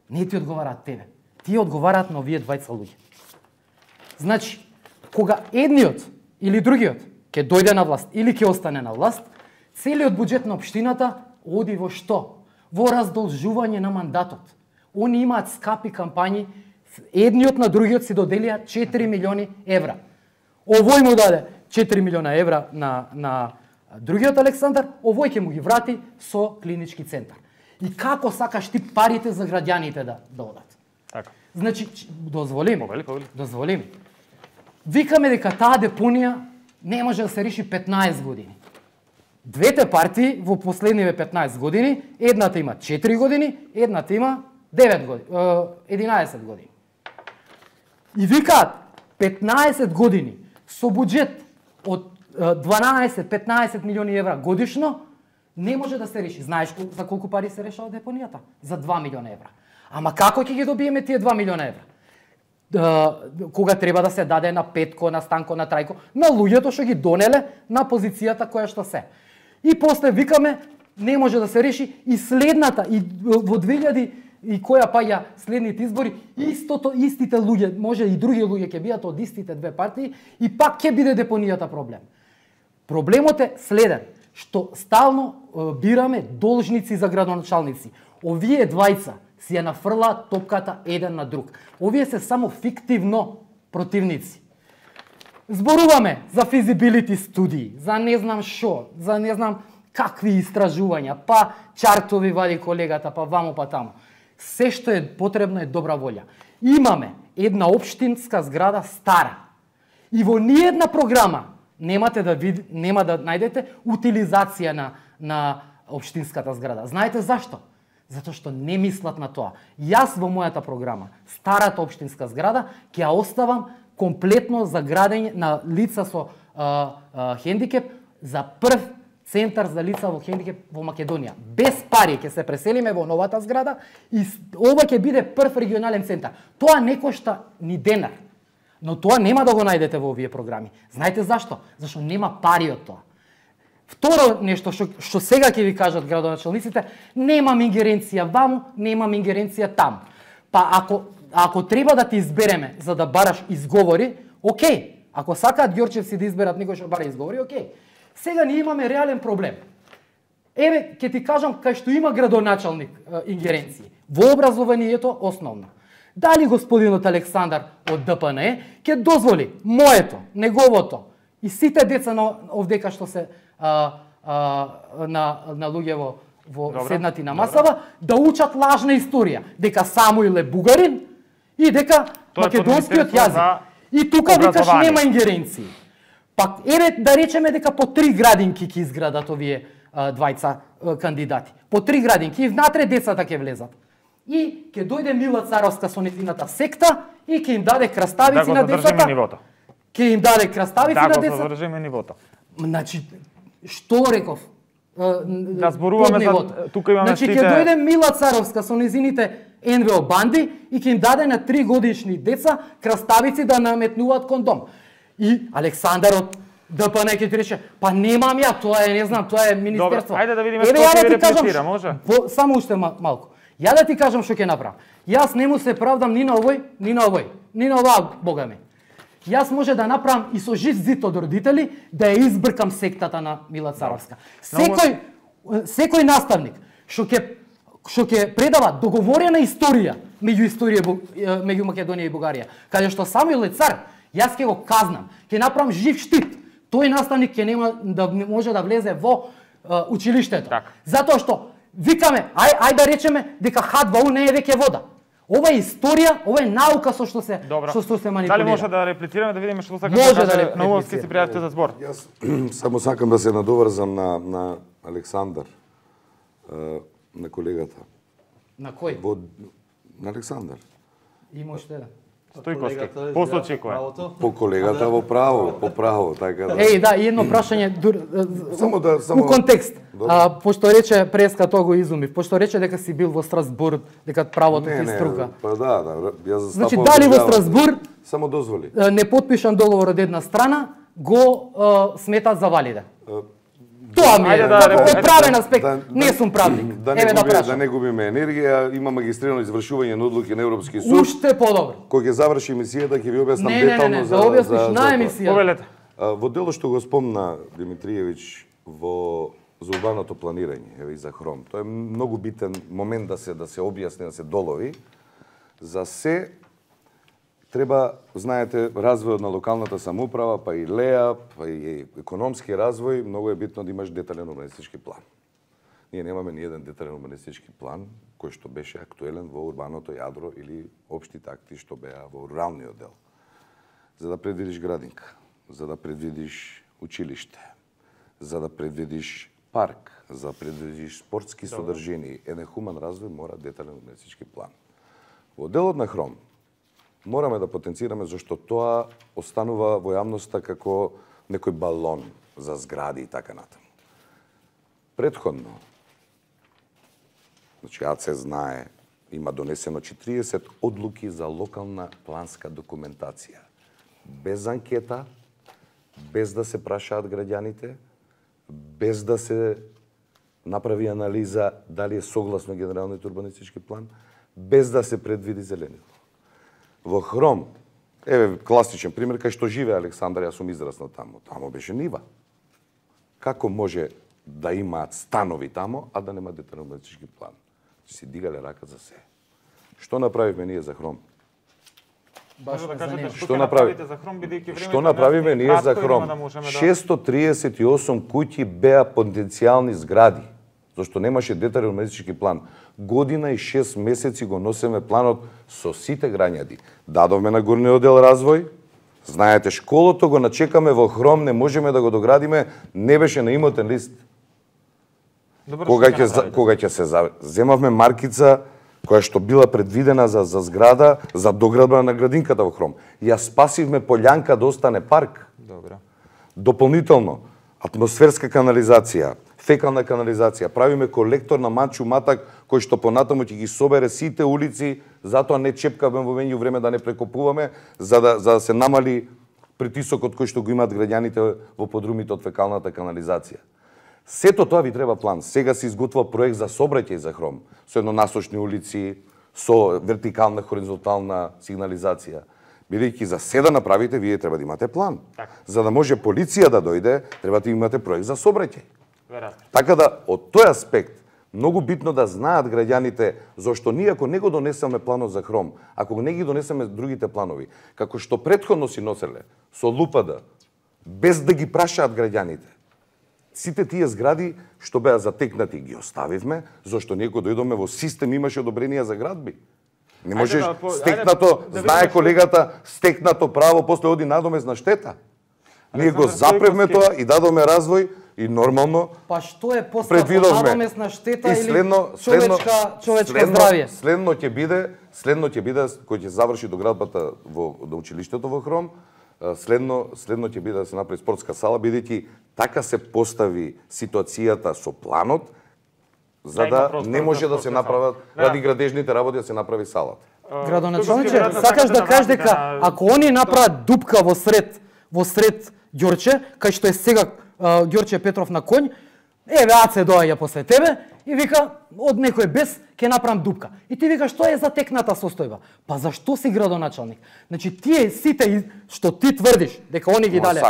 Не ти одговараат тебе. Тие одговараат на овие двајца луѓе. Значи, кога едниот или другиот ќе дојде на власт или ќе остане на власт, целиот буџет на општината оди во што? Во раздолжување на мандатот. Они имаат скапи кампањи, едниот на другиот си доделија четири милиони евра. Овој му даде четири милиона евра на, на другиот Александар, овој ќе му ги врати со клинички центар. И како сакаш ти парите за граѓаните да, да одат? Така. Значи, дозволи ми, Повели, повели. дозволи ми. Викаме дека таа депонија не може да се реши петнаесет години. Двете партии во последниве петнаесет години, едната има четири години, едната има девет години, единаесет години. И викаат петнаесет години со буџет од дванаесет-петнаесет милиони евра годишно не може да се реши. Знаеш за колку пари се решава депонијата? За два милиона евра. Ама како ќе ги добиеме тие два милиона евра? Кога треба да се даде на Петко, на Станко, на Трајко, на луѓето што ги донеле на позицијата која што се. И после викаме не може да се реши и следната и во две илјади и која паѓа следните избори, истото истите луѓе, може и други луѓе ќе бидат од истите две партии и пак ќе биде депонијата проблем. Проблемот е следен, што стално е, бираме должници за градоначалници. Овие двајца си ја нафрлаат топката еден на друг. Овие се само фиктивно противници. Зборуваме за физибилити студии, за не знам шо, за не знам какви истражувања, па чартови вади колегата, па вамо па тамо. Се што е потребно е добра волја. Имаме една општинска зграда стара. И во ниедна програма немате да вид, нема да најдете утилизација на на општинската зграда. Знаете зашто? Затоа што не мислат на тоа. Јас во мојата програма, старата општинска зграда, ќе ја оставам комплетно за градење на лица со а, а, хендикеп, за прв центар за лица во хендикеп во Македонија. Без пари ќе се преселиме во новата зграда и ова ќе биде прв регионален центар. Тоа не кошта ни денар, но тоа нема да го најдете во овие програми. Знаете зашто? Зашто нема пари од тоа. Второ нешто што, што сега ќе ви кажат градоначалниците, немам ингеренција ваму, немам ингеренција таму. Па ако ако треба да ти избереме за да бараш изговори, окей. Ако сакаат ѓорчевци да изберат некој што бара изговори, окей. Сега ние имаме реален проблем. Еве, ќе ти кажам кај што има градоначалник е, ингеренции. Во образованието основно. Дали господинот Александар од ДПН ќе дозволи моето, неговото и сите деца на овдека што се а, а, на на луѓе во во добра, седнати на масава добра, да учат лажна историја, дека Самуил е бугарин и дека тоа македонскиот јазик. И тука викаш нема ингеренции. Пак еве да речеме дека по три градинки ќе изградат овие а, двајца а, кандидати. По три градинки и внатре децата ќе влезат. И ќе дојде Мила Царовска со незината секта и ќе им даде краставици да на децата. Нивото. Ќе им даде краставици да на децата. Да го задржиме нивото. Значи што реков? Да зборуваме за тука имаме значи, сите. Значи ќе дојде Мила Царовска со незините Ен Ве О банди и ќе им даде на три годишни деца краставици да наметнуваат кондом. И Александар од Д П Н ќе ти рече, па немам ја, тоа е, не знам, тоа е министерство. Добре, ајде да видиме Еве, што ја ќе да ви ти кажам реплицира, ш- може? По, само уште ма- малку. Ја да ти кажам што ќе направам. Јас не му се правдам ни на овој, ни на овој, ни на оваа, бога ми. Јас може да направам и со жив зид од родители да ја избркам сектата на Мила Царовска. Секој секој наставник што ќе што ќе предава договорена историја меѓу историја меѓу Македонија и Бугарија, каде што Самуил е цар, јас ќе го казнам, ќе направам жив штит. Тој наставник ќе нема да може да влезе во uh, училиштето. Так. Затоа што викаме, ај ај да речеме дека Х два О не е веќе вода. Ова е историја, ова е наука со што се Добро. што што се манипулира. Дали може да реплицираме да видиме што сака Може да да каже реплицира. Нововски се пријавите за збор? Јас само сакам да се надоврзам на, на Александар, е, на колегата. На кој? Во, на Александар. Има уште еден. Стојковски. После очекува. По колегата во право, по право, така да. Еј, да, и едно прашање дур, Само да- само- у контекст. Добро. А, пошто рече преска тоа го изумив, пошто рече дека си бил во Страсбург, дека правото Не, ти не, струка. па да, да, јас застапувам. Значи, дали во државата. Страсбург Само дозволи. е, не потпишан договор од една страна, го е, сметат за валиден. Тоа ми е, Ајде да како репе- од правен аспект, Да- не сум правник. Да не, Еве да губи, да прашам. не губиме енергија, има магистрирано извршување на одлуки на Европски суд. Уште подобро. Кој ќе заврши емисијата ќе ви објаснам Не, не, не, детално не, за да објасниш за- за на тоа. емисија. Повелете. А, Во дело што го спомна Димитриевиќ во за урбаното планирање, еве и за Хром. Тоа е многу битен момент да се да се објасни, да се долови. За се треба, знаете, развојот на локалната самоуправа, па и ЛЕА, па и економски развој, многу е битно да имаш детален урбанистички план. Ние немаме ни еден детален урбанистички план кој што беше актуелен во урбаното јадро или општите акти што беа во руралниот дел. За да предвидиш градинка, за да предвидиш училиште, за да предвидиш парк, за да предвидиш спортски содржини, еден хуман развој мора детален урбанистички план. Во делот на Хром мораме да потенцираме зашто тоа останува во јавноста како некој балон за згради и така натаму. Претходно, значи АЦ знае, има донесено четириесет одлуки за локална планска документација. Без анкета, без да се прашаат граѓаните, без да се направи анализа дали е согласно генералниот урбанистички план, без да се предвиди зеленило. Во Хром, еве класичен пример, кај што живее Александар, јас сум израснал таму. Тамо беше нива. Како може да имаат станови тамо, а да нема детален урбанистички план? Си дигале рака за се. Што направивме ние за Хром? Може да кажете што Што ќе направи- направите за Хром, бидејќи времето Што направиме не е ние за кратко, Хром? има да можеме да- шестsto триесет и осум куќи беа потенцијални згради, зашто немаше детален урбанистички план. Година и шест месеци го носиме планот со сите граѓади. Дадовме на горниот дел развој. Знаете, школото го начекаме во Хром, не можеме да го доградиме, не беше на имотен лист. Добро, Кога што ќе за- направите? кога ќе се за- земавме маркица која што била предвидена за за зграда за доградба на градинката во Хром. Ја спасивме полјанка да остане парк. Добро. Дополнително, атмосферска канализација, фекална канализација, правиме колектор на Манчу Матак, кој што понатаму ќе ги собере сите улици, затоа не чепкаме во меѓу време да не прекопуваме, за да, за да се намали притисокот кој што го имаат граѓаните во подрумите од фекалната канализација. Сето тоа ви треба план. Сега се изготвува проект за сообраќај за Хром, со еднонасочни улици, со вертикална, хоризонтална сигнализација. Бидејќи за се да направите, вие треба да имате план. Така. За да може полиција да дојде, треба да имате проект за сообраќај. Веројатно. Така да, од тој аспект, многу битно да знаат граѓаните, зашто ние ако не го донесеме планот за Хром, ако не ги донесеме другите планови, како што претходно си носеле, со лупада, без да ги прашаат граѓаните, сите тие згради што беа затекнати ги оставивме, зашто ние кога дојдоме во систем имаше одобренија за градби. Не можеш да по- ајде стекнато, да видиме знае што- колегата, стекнато право после оди надомесна штета. Ние го Александар запревме Стојковски. тоа и дадоме развој и нормално Па што е поскапо, предвидовме. надомесна штета И или следно, човечка, човечка следно, здравје? Следно ќе биде, следно ќе биде кој ќе заврши доградбата во до училиштето во Хром, а, следно следно ќе биде да се направи спортска сала, бидејќи така се постави ситуацијата со планот, за да не може да се направат ради градежните работи да се направи салата. Градоначалниче, сакаш да кажеш дека ако они направат дупка во сред во сред Ѓорче, кај што е сега Ѓорче Петров на конј, еве Аце доаѓа после тебе и вика од некој без ќе направам дупка. И ти викаш што е за текната состојба? Па зашто си градоначалник? Значи тие сите што ти тврдиш дека они ги дале.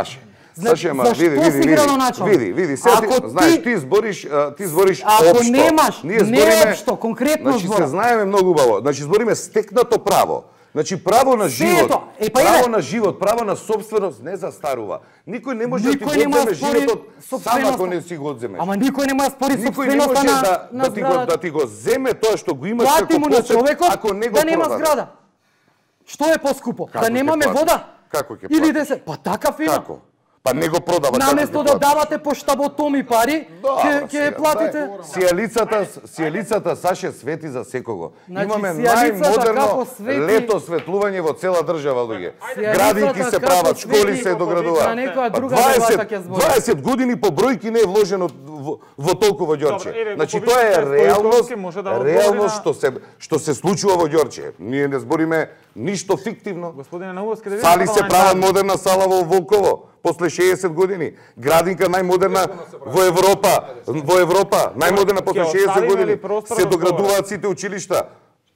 Саше, ма, види, види, види, види, види, сега ти, знаеш, ти збориш, ти збориш општо. Ако немаш, не општо, конкретно значи, збор. Значи, се знаеме многу убаво. Значи, збориме стекнато право. Значи, право на живот, е, па право е, на живот, право на собственост не застарува. Никој не може да ти го одземе животот сам ако не си го одземеш. Ама никој не може да спори никој не може на, да, на да, ти го, да ти го земе тоа што го имаш како посед, ако не го да нема продаде. зграда. Што е поскупо? Како да немаме вода? Како ќе Или да се, па така фина. Како? Па не го продава. Наместо да давате по штаботоми пари, ќе ќе платите. Сијалицата, сијалицата Саше свети за секого. Значи, имаме најмодерно свети... лето светлување во цела држава, луѓе. Градинки се прават, школи се доградуваат. дваесет години по бројки не е вложено во, во толку во Ѓорче. Значи тоа е реалност, реалност што се што се случува во Ѓорче. Ние не збориме ништо фиктивно. Господине Наувовски, да Сали се прават модерна сала во Волково после шеесет години. Градинка најмодерна во Европа, во Европа, најмодерна после шеесет години. Се доградуваат сите училишта.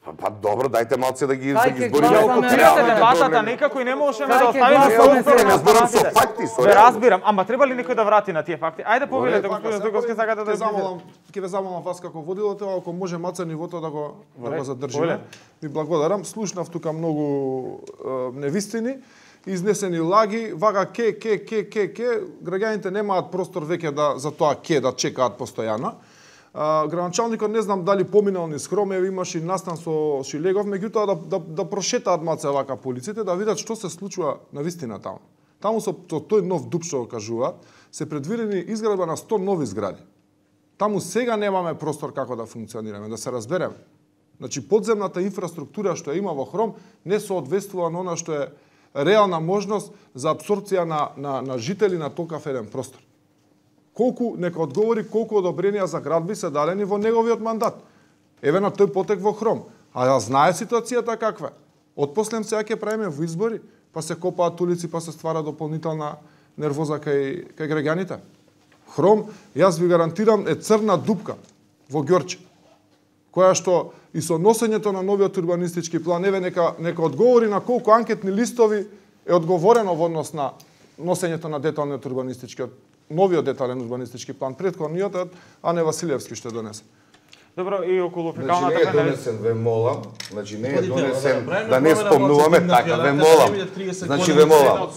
Па, па добро, дајте малце да ги да ги збориме. Ја окупирате дебатата, некако и не можеме да оставиме простор на зборам со факти, со Ве разбирам, ама треба ли некој да врати на тие факти? Ајде повелете, господин Стојковски, сакате да замолам, ќе ве замолам вас како водило, ако може маца нивото да го да го задржиме. Ви благодарам. Слушнав тука многу невистини, изнесени лаги, вага ке ке ке ке ке, граѓаните немаат простор веќе да за тоа ке да чекаат постојано. Градоначалникот не знам дали поминал низ Хром, еве имаше настан со Шилегов, меѓутоа да, да, да прошетаат маце вака полиците, да видат што се случува навистина таму. Таму со тој нов дупк што го кажуваат, се предвидени изградба на сто нови згради. Таму сега немаме простор како да функционираме, да се разбереме. Значи подземната инфраструктура што има во Хром не соодветствува на она што е реална можност за апсорбција на, на, на жители на толкав еден простор. Колку, нека одговори колку одобренија за градби се дадени во неговиот мандат. Еве на тој потек во Хром. А ја знае ситуацијата каква е. Отпослем сега ќе правиме во избори, па се копаат улици, па се ствара дополнителна нервоза кај, кај граѓаните. Хром, јас ви гарантирам, е црна дупка во Ѓорче, која што и со носењето на новиот урбанистички план, еве нека, нека одговори на колку анкетни листови е одговорено во однос на носењето на деталниот урбанистички новиот детален урбанистички план, претходниот Ане Василевски што донесе. Добро, и околу фекалната значи, не е донесен, ве молам, значи не е донесен, да не спомнуваме, така, ве молам. Значи, ве молам,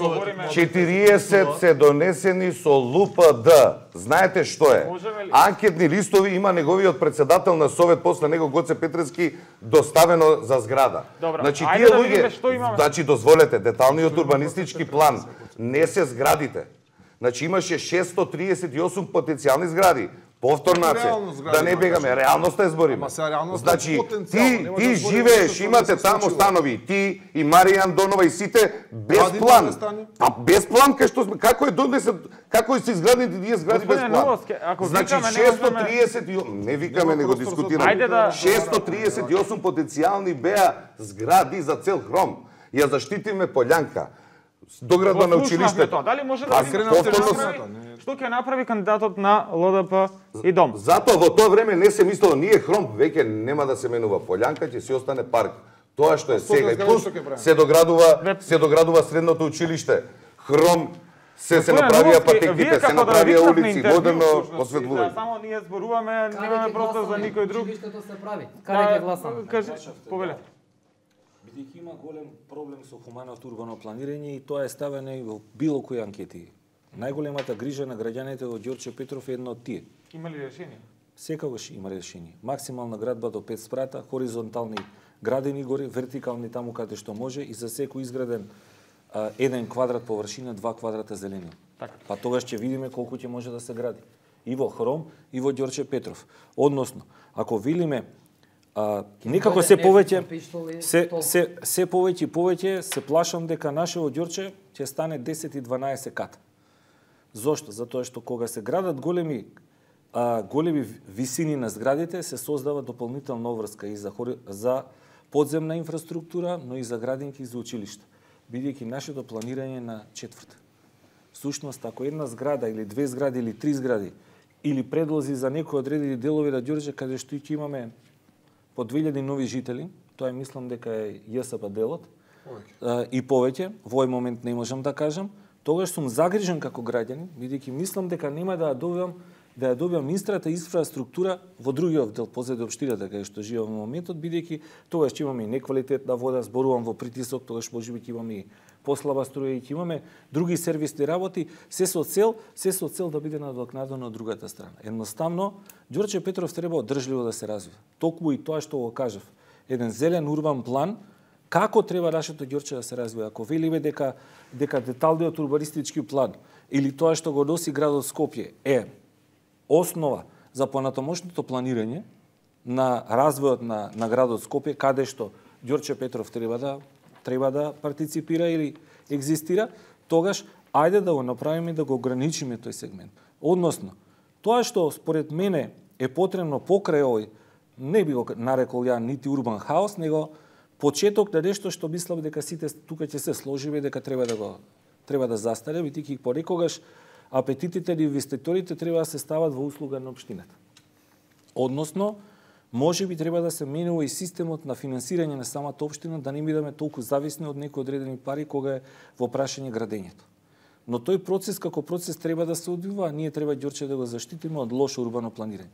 четириесет се донесени со ЛУПД. Знаете што е? Анкетни листови има неговиот председател на Совет, после него Гоце Петрески, доставено за зграда. Добро, значи, ајде тие да луѓе, видиме што имаме. Значи, дозволете, деталниот урбанистички план не се зградите. Значи, имаше шестстотини триесет и осум потенцијални згради. Повторнаце, да не бегаме, реалноста е збориме. Значи, ти, ти живееш, имате таму станови, ти и Марија Андонова и сите, без план. Па без план, кај што сме, како е донесен, како се изградени тие згради без план? Значи, шестстотини триесет и осум, не викаме, не го дискутираме, шестстотини триесет и осум потенцијални беа згради за цел Хром. Ја заштитиме Полјанка. Доградба на училиштето. Дали може да направи што ќе направи кандидатот на ЛДП и Дом? Затоа во тоа време не се мислело, ние Хром веќе нема да се менува Полјанка, ќе си остане парк. Тоа што е сега и плюс се доградува, се доградува средното училиште. Хром се се направија патеките, се направија улици, модерно осветлување. Само ние зборуваме, немаме простор за никој друг. Училиштето се прави. Каде ќе гласаме? Кажи, повеле. Бидејќи има голем проблем со хуманото урбано планирање и тоа е ставено и во било кои анкети. Најголемата грижа на граѓаните во Ѓорче Петров е едно од тие. Има ли решение? Секогаш има решение. Максимална градба до пет спрата, хоризонтални градени гори, вертикални таму каде што може и за секој изграден а, еден квадрат површина, два квадрата зеленина. Така. Па тогаш ќе видиме колку ќе може да се гради. И во Хром, и во Ѓорче Петров. Односно, ако велиме А, некако се повеќе се се се повеќе и повеќе се плашам дека нашето Ѓорче ќе стане десет и дванаесет кат. Зошто? Затоа што кога се градат големи а, големи висини на зградите се создава дополнителна обврска и за, за подземна инфраструктура, но и за градинки и за училишта, бидејќи нашето планирање на четврта. Всушност, ако една зграда или две згради или три згради или предлози за некои одредени делови на Ѓорче каде што ќе имаме по две илјади нови жители, тоа е мислам дека е ЈСП делот, а, и повеќе, во овој момент не можам да кажам, тогаш сум загрижен како граѓанин, бидејќи мислам дека нема да ја добивам да ја добивам истрата инфраструктура во другиот дел позади општината каде што живеам во моментот, бидејќи тогаш ќе имаме и неквалитетна вода, зборувам во притисок, тогаш можеби ќе имаме и послаба струја и ќе имаме други сервисни работи, се со цел, се со цел да биде надокнадено од другата страна. Едноставно, Ѓорче Петров треба одржливо да се развива. Токму и тоа што го кажав, еден зелен урбан план, како треба нашето Ѓорче да се развива. Ако велиме дека дека деталниот урбанистички план или тоа што го носи градот Скопје е основа за понатамошното планирање на развојот на, на градот Скопје, каде што Ѓорче Петров треба да треба да партиципира или екзистира, тогаш ајде да го направиме и да го ограничиме тој сегмент. Односно, тоа што според мене е потребно покрај овој, не би го нарекол ја нити урбан хаос, него почеток на нешто што мислам дека сите тука ќе се сложиме дека треба да го треба да застане, бидејќи понекогаш апетитите на инвеститорите треба да се стават во услуга на општината. Односно, може би треба да се менува и системот на финансирање на самата општина, да не бидеме толку зависни од некои одредени пари кога е во прашање градењето. Но тој процес како процес треба да се одвива, а ние треба Ѓорче да го заштитиме од лошо урбано планирање.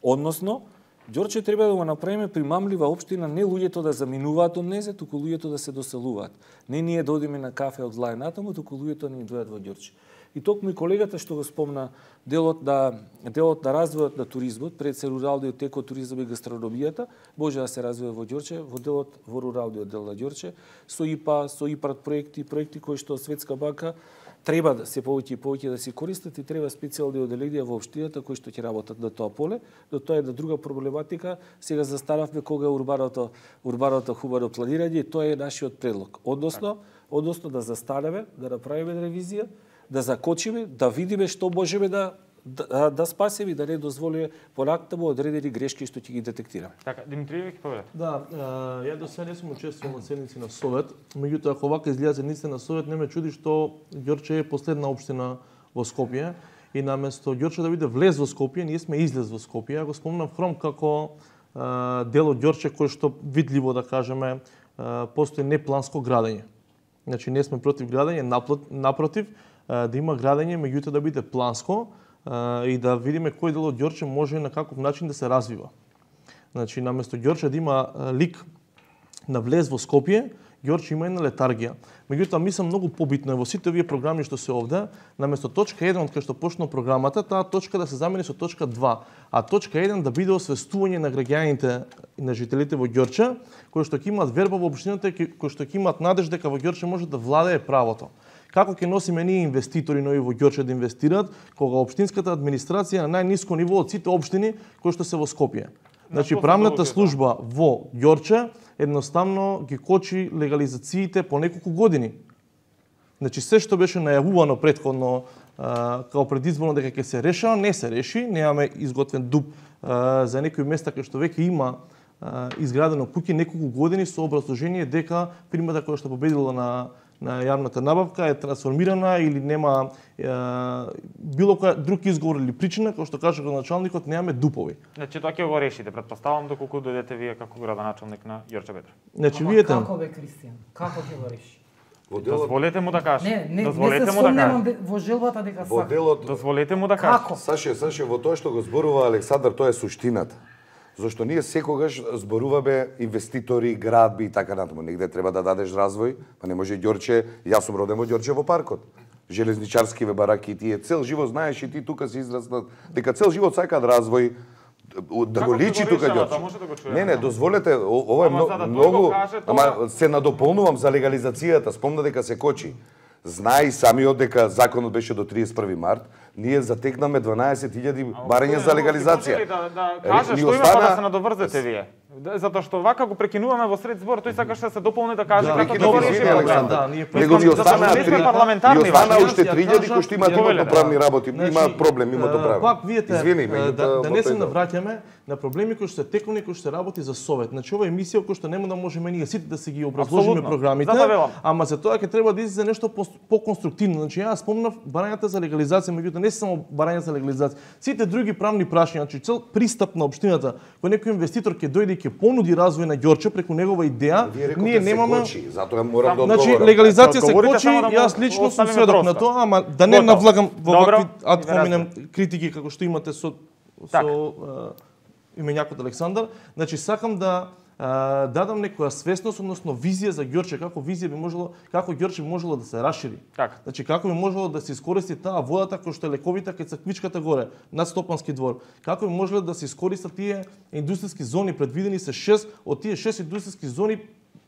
Односно, Ѓорче треба да го направиме примамлива општина, не луѓето да заминуваат од незе, туку луѓето да се доселуваат. Не ние да одиме на кафе од Лај натаму, туку луѓето не дојдат во Ѓорче. И токму и колегата што го спомна, делот на делот на развојот на туризмот, пред се руралниот екотуризам и гастрономијата, може да се развива во Ѓорче, во делот во руралниот дел на Ѓорче, со ИПА, со ИПАРТ проекти, проекти кои што Светска банка треба да се повеќе и повеќе да се користат и треба специјални оделенија во општината кои што ќе работат на тоа поле. Но тоа е една друга проблематика. Сега застававме кога урбаното урбаното хубаво планирање, и тоа е нашиот предлог. Односно, односно да застанеме, да направиме ревизија, да закочиме, да видиме што можеме да да, да спасиме и да не дозволиме понатаму одредени грешки што ќе ги детектираме. Така, Димитриевич, поведа. Да, ја до сега не сум учествувал на седници на Совет, меѓутоа ако вака изгледа седниците на Совет, не ме чуди што Ѓорче е последна општина во Скопје и наместо Ѓорче да биде влез во Скопје, ние сме излез во Скопје. Го спомнав Хром како а, дел од Ѓорче кој што видливо да кажеме а, постои непланско градење. Значи не сме против градење, напротив, а, да има градење, меѓутоа да биде планско, и да видиме кој дел од Ѓорче може на каков начин да се развива. Значи, наместо Ѓорче да има лик на влез во Скопје, Ѓорче има една летаргија. Меѓутоа, мислам многу побитно е во сите овие програми што се овде, наместо точка еден од кај што почна програмата, таа точка да се замени со точка два, а точка еден да биде освестување на граѓаните и на жителите во Ѓорче, кои што ќе имаат верба во општината, кои што ќе имаат надеж дека во Ѓорче може да владее правото. Како ќе носиме ние инвеститори нови во Ѓорче да инвестираат, кога општинската администрација на најниско ниво од сите општини кои што се во Скопје. Значи правната служба во Ѓорче едноставно ги кочи легализациите по неколку години. Значи се што беше најавувано претходно а, како предизборно дека ќе се решава, не се реши, немаме изготвен дуб а, за некои места кај што веќе има а, изградено куќи неколку години со образложение дека фирмата која што победила на на јавната набавка е трансформирана или нема е, било која друг изговор или причина, кој што кажа градоначалникот, немаме дупови. Значи тоа ќе го решите, претпоставам доколку дојдете вие како градоначалник на Ѓорче Петров. Значи Ама видите. како бе, Кристијан? Како ќе го реши? Во делот, Дозволете му да каже. Не, не, Дозволете не се му да сомневам каже. де- во желбата дека во сака. делот, Дозволете му да каже. Како? Саше, Саше, во тоа што го зборува Александар, тоа е суштината. Зошто ние секогаш зборуваме инвеститори, градби и така натаму. Негде треба да дадеш развој, па не може Ѓорче, јас сум роден во Ѓорче во паркот. Железничарскиве бараки и тие цел живот знаеш и ти тука се израснат, дека цел живот сакаат развој, да Како го ќе личи го тука решава, тоа Ѓорче. може да го чуеме, Не, не, да. дозволете, о- ова е Ама много, за да тој многу, го каже, тоа- ама се надополнувам за легализацијата, спомна дека се кочи. Знае и самиот дека законот беше до триесет и први март, ние затекнаме дванаесет илјади барања за легализација. Да, да Ре- каже ни што има остана- па да се надоврзете вие. Затоа што вака го прекинуваме во сред збор, тој сакаше да се дополни да каже Да, како да го ги реши извини, проблемот. Александар. Да, ние Него ги останаа не сме три, парламентарни, и останаа Вака. уште Ја тријади кажав- кои што имаат Ја имотно-правни да. работи, Значи, имаат проблем имотно-правни. Пак видите, Извини, е, меѓутоа, да, да не се во тој дел. навраќаме на проблеми кои што се тековни, кои што се работи за совет. Значи ова е емисија која што нема да можеме ние сите да си ги образложиме Апсолутно. програмите, Затоа велам. ама за тоа ќе треба да излезе нешто по- по-конструктивно. Значи јас спомнав барањата за легализација, меѓутоа не се само барања за легализација. Сите други правни прашања, значи цел пристап на општината, кој некој инвеститор ќе дојде и ќе понуди развој на Ѓорче преку негова идеја, Вие рековте ние се немаме. кочи, затоа морам да Значи одговорам. легализација се Одговорите кочи, само да му јас лично сум оставиме сведок на простор. тоа, ама да не Готово. навлагам во Добро, вакви ад ви хоминем критики како што имате со Така. со а, именјакот Александар. Значи сакам да а, дадам некоја свесност, односно визија за Ѓорче, како визија би можело, како Ѓорче би можело да се расшири. Така. Значи како би можело да се искористи таа водата кој што е лековита кај црквичката горе, над Стопански двор. Како би можело да се искористат тие индустријски зони, предвидени се шест, од тие шест индустријски зони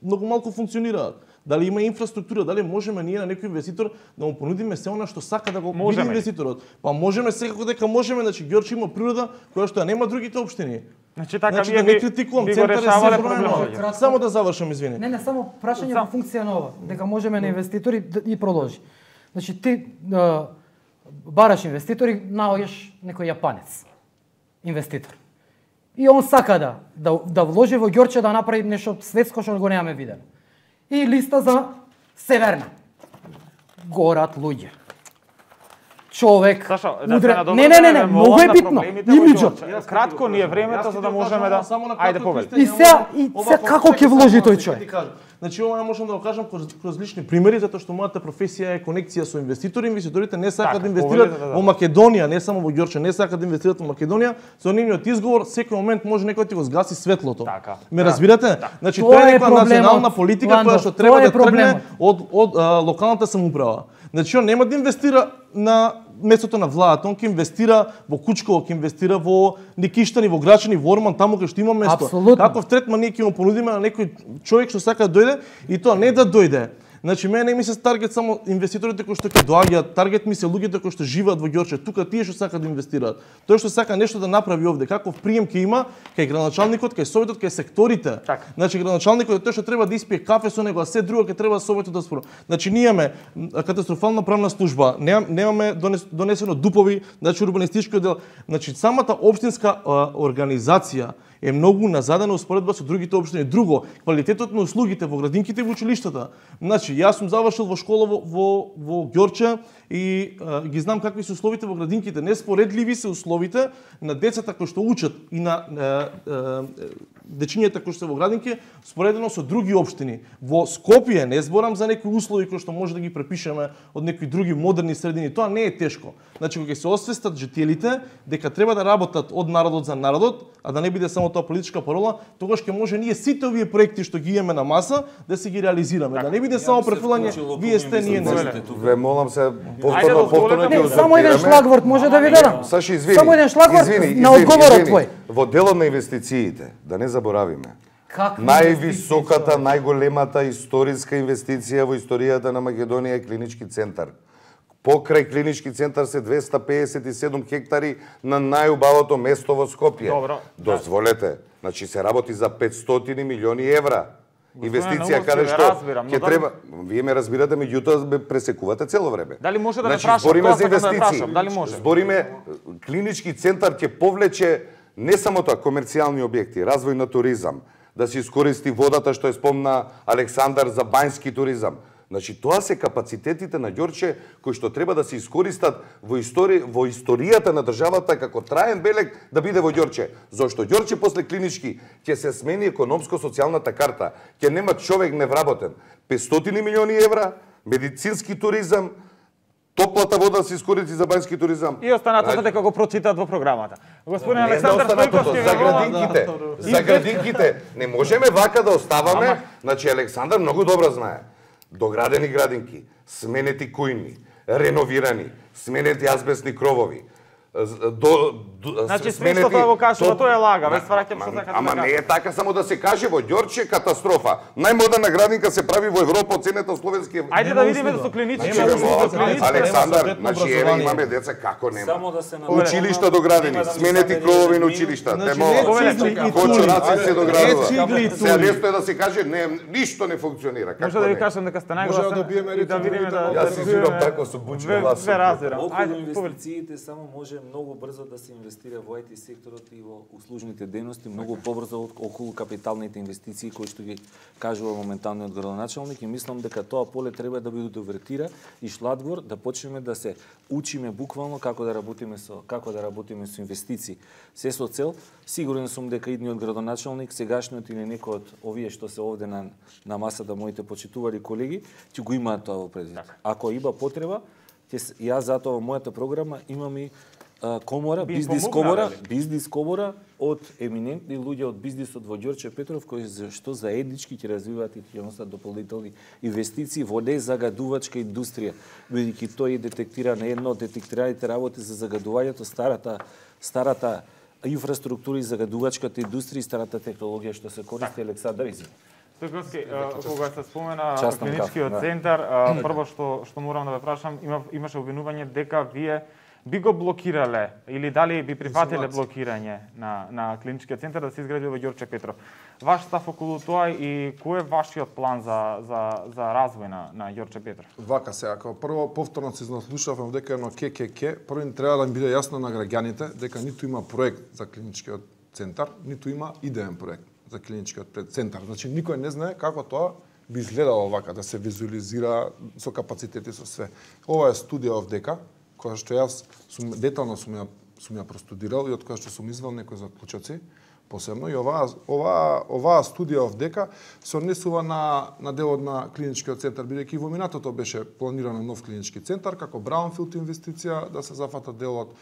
многу малку функционираат. Дали има инфраструктура, дали можеме ние на некој инвеститор да му понудиме се она што сака да го биде Можеме. инвеститорот. Па можеме секако дека можеме, значи Ѓорче има природа која што ја нема другите општини. Значи така Значи вие да не би- критикувам, би го центар е решавале се проблемот. проблемот. Само да завршам, извини. Не, не, само прашање Сам. во функција на ова, дека можеме на инвеститори да- и продолжи. Значи ти а, бараш инвеститори, наоѓаш некој јапанец инвеститор. И он сака да да, да вложи во Ѓорче да направи нешто светско што го немаме видено. И листа за Северна. Горат луѓе. Човек Сашо, да удре... се надобрзаме, Не, не, не, не, ве многу молам е на битно. проблемите во Имиджот. Ѓорче. Кратко ни е времето за да можеме да ајде повели. И сега- и сега како ќе вложи тој човек? Значи ова можам да го кажам кроз, кроз лични примери, затоа што мојата професија е конекција со инвеститори. Инвеститорите не сакаат Така, да инвестираат повелете, да, да. во Македонија, не само во Ѓорче, не сакаат да инвестираат во Македонија. Со нивниот изговор секој момент може некој да ти го згаси светлото. Така. Ме разбирате? Значи Тоа тоа е е некоја проблемот, национална политика Ландо, која што треба тоа е да тргне проблемот. од од а, локалната самоуправа. Значи он нема да инвестира на местото на владата, он ќе инвестира во Кучково, ќе инвестира во Никиштани, во Грачани, во Орман, таму кај што има место. Апсолутно. Каков третман ние ќе му понудиме на некој човек што сака да дојде и тоа не да дојде. Значи мене не ми се таргет само инвеститорите кои што ќе доаѓаат, таргет ми се луѓето кои што живеат во Ѓорче, тука тие што сакаат да инвестираат. Тој што сака нешто да направи овде, каков прием ќе има кај градоначалникот, кај советот, кај секторите. Така. Значи градоначалникот е тој што треба да испие кафе со него, а се друго ќе треба советот да спорува. Значи ние имаме м, катастрофална правна служба, немаме, немаме донес, донесено дупови, значи урбанистички оддел. Значи самата општинска а, организација е многу назадена успоредба со другите општини. Друго, квалитетот на услугите во градинките и во училиштата. Значи, јас сум завршил во школа во, во, во Ѓорче и а, ги знам какви се условите во градинките. Неспоредливи се условите на децата кои што учат и на а, а, дечињата кои што се во градинки, споредено со други општини. Во Скопје не зборам за некои услови кои што може да ги препишеме од некои други модерни средини. Тоа не е тешко. Значи, кога ќе се освестат жителите дека треба да работат од народот за народот, а да не биде само тоа политичка парола, тогаш ќе може ние сите овие проекти што ги имаме на маса да се ги реализираме. Да не биде само префрлање, вие сте, ние не сте. Ве молам се Ајде, повторно, дозволете повторно ми. ќе Не, само еден шлагворд може да ви дадам. Саши, извини. Само еден шлагворд извини, на извини, одговорот извини. твој. Во делот на инвестициите, да не заборавиме, Какви највисоката, најголемата историска инвестиција во историјата на Македонија е клинички центар. Покрај клинички центар се двеста пеесет и седум хектари на најубавото место во Скопје. Добро. Дозволете, значи се работи за петстотини милиони евра. Инвестиција Наумовски, каде ве што разбирам, но ќе дали- треба, вие ме разбирате, меѓутоа ме пресекувате цело време. Дали може да ме Значи, прашам? збориме Тоа за сакам да ме инвестиции. прашам, дали може? Збориме клинички центар ќе повлече не само тоа комерцијални објекти, развој на туризам, да се искористи водата што е спомна Александар за бањски туризам. Значи тоа се капацитетите на Ѓорче кои што треба да се искористат во истори во историјата на државата како траен белег да биде во Ѓорче. Зошто Ѓорче после клинички ќе се смени економско-социјалната карта, ќе нема човек невработен. петстотини милиони евра, медицински туризам, топлата вода се искористи за бањски туризам. И останатото дека го прочитаат во програмата. Господин Не за Александар останатото, Стојковски за ве молам- градинките. За градинките. Не можеме вака да оставаме. Значи Александар многу добро знае. Доградени градинки, сменети кујни, реновирани, сменети азбестни кровови, до, до Значи све што тоа го кажува, тоа е лага, ве свраќам што сакате да Ама кажете. не е така само да се каже во Ѓорче катастрофа. Најмодерна градинка се прави во Европа, оценета словенски. Ајде да видиме со клинички. Александар, значи еве имаме деца како нема. Само да се Училишта доградени, сменети кровови на училишта, темо. Почураци се доградува. Се нешто е да се каже не ништо не функционира. Како Може да ви не? кажам дека сте Може најгласен да биеме и да видиме да Јас си свирам тако со бучен глас. Ве разбирам. Околу Ајде, повели. инвестициите само може многу брзо да се инвестира во ай ти секторот и во услужните дејности, многу побрзо од околу капиталните инвестиции кои што ги кажува моменталниот градоначалник, и мислам дека тоа поле треба да биде довертира и шладвор да почнеме да се учиме буквално како да работиме со како да работиме со инвестиции. Се со цел, сигурен сум дека идниот градоначалник, сегашниот или некој од овие што се овде на на масата, моите почитувани колеги, ќе го имаат тоа во предвид. Ако има потреба, јас затоа во мојата програма имам и а, комора, Би бизнис помогнале комора, ли? бизнис комора од еминентни луѓе од бизнисот во Ѓорче Петров, кои што заеднички ќе развиваат и ќе носат дополнителни инвестиции во незагадувачка индустрија, бидејќи тој детектира на едно од детектираните работи за загадувањето старата старата инфраструктура и загадувачката индустрија и старата технологија што се користи. Александар, извини. Стојковски, кога се спомена Частен клиничкиот каф, да. центар, а, прво што што морам да ве прашам, има имаше обвинување дека вие би го блокирале или дали би прифатиле блокирање на на клиничкиот центар да се изгради во Ѓорче Петров. Ваш став околу тоа и кој е вашиот план за за за развој на на Ѓорче Петров? Вака се, ако прво повторно се слушавме дека едно ке ке ке, прво ни треба да им биде јасно на граѓаните дека ниту има проект за клиничкиот центар, ниту има идеен проект за клиничкиот центар. Значи никој не знае како тоа би изгледало вака, да се визуализира со капацитети, со све. Ова е студија овдека, која што јас сум детално сум ја сум ја простудирал и од која што сум извел некои заклучоци посебно, и оваа оваа оваа студија овдека се однесува на на делот на клиничкиот центар, бидејќи во минатото беше планирано нов клинички центар како браунфилд инвестиција да се зафата делот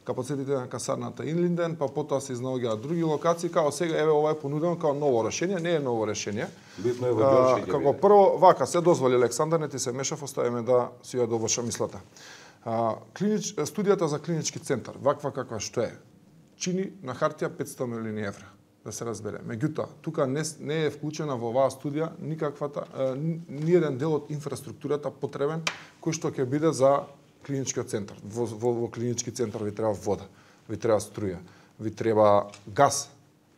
капацитетите на касарната Инлинден, па потоа се изнаоѓаат други локации, као сега еве ова е понудено како ново решение, не е ново решение. Битно е во Ѓорче ќе Како биде. прво, вака се дозволи Александар, не ти се мешав, оставиме да си ја довршам мислата. А, клинич, студијата за клинички центар, ваква каква што е, чини на хартија петстотини милиони евра, да се разбере. Меѓутоа, тука не, не е вклучена во оваа студија никаквата, ни, ни еден дел од инфраструктурата потребен кој што ќе биде за клиничкиот центар. Во, во, во клинички центар ви треба вода, ви треба струја, ви треба газ,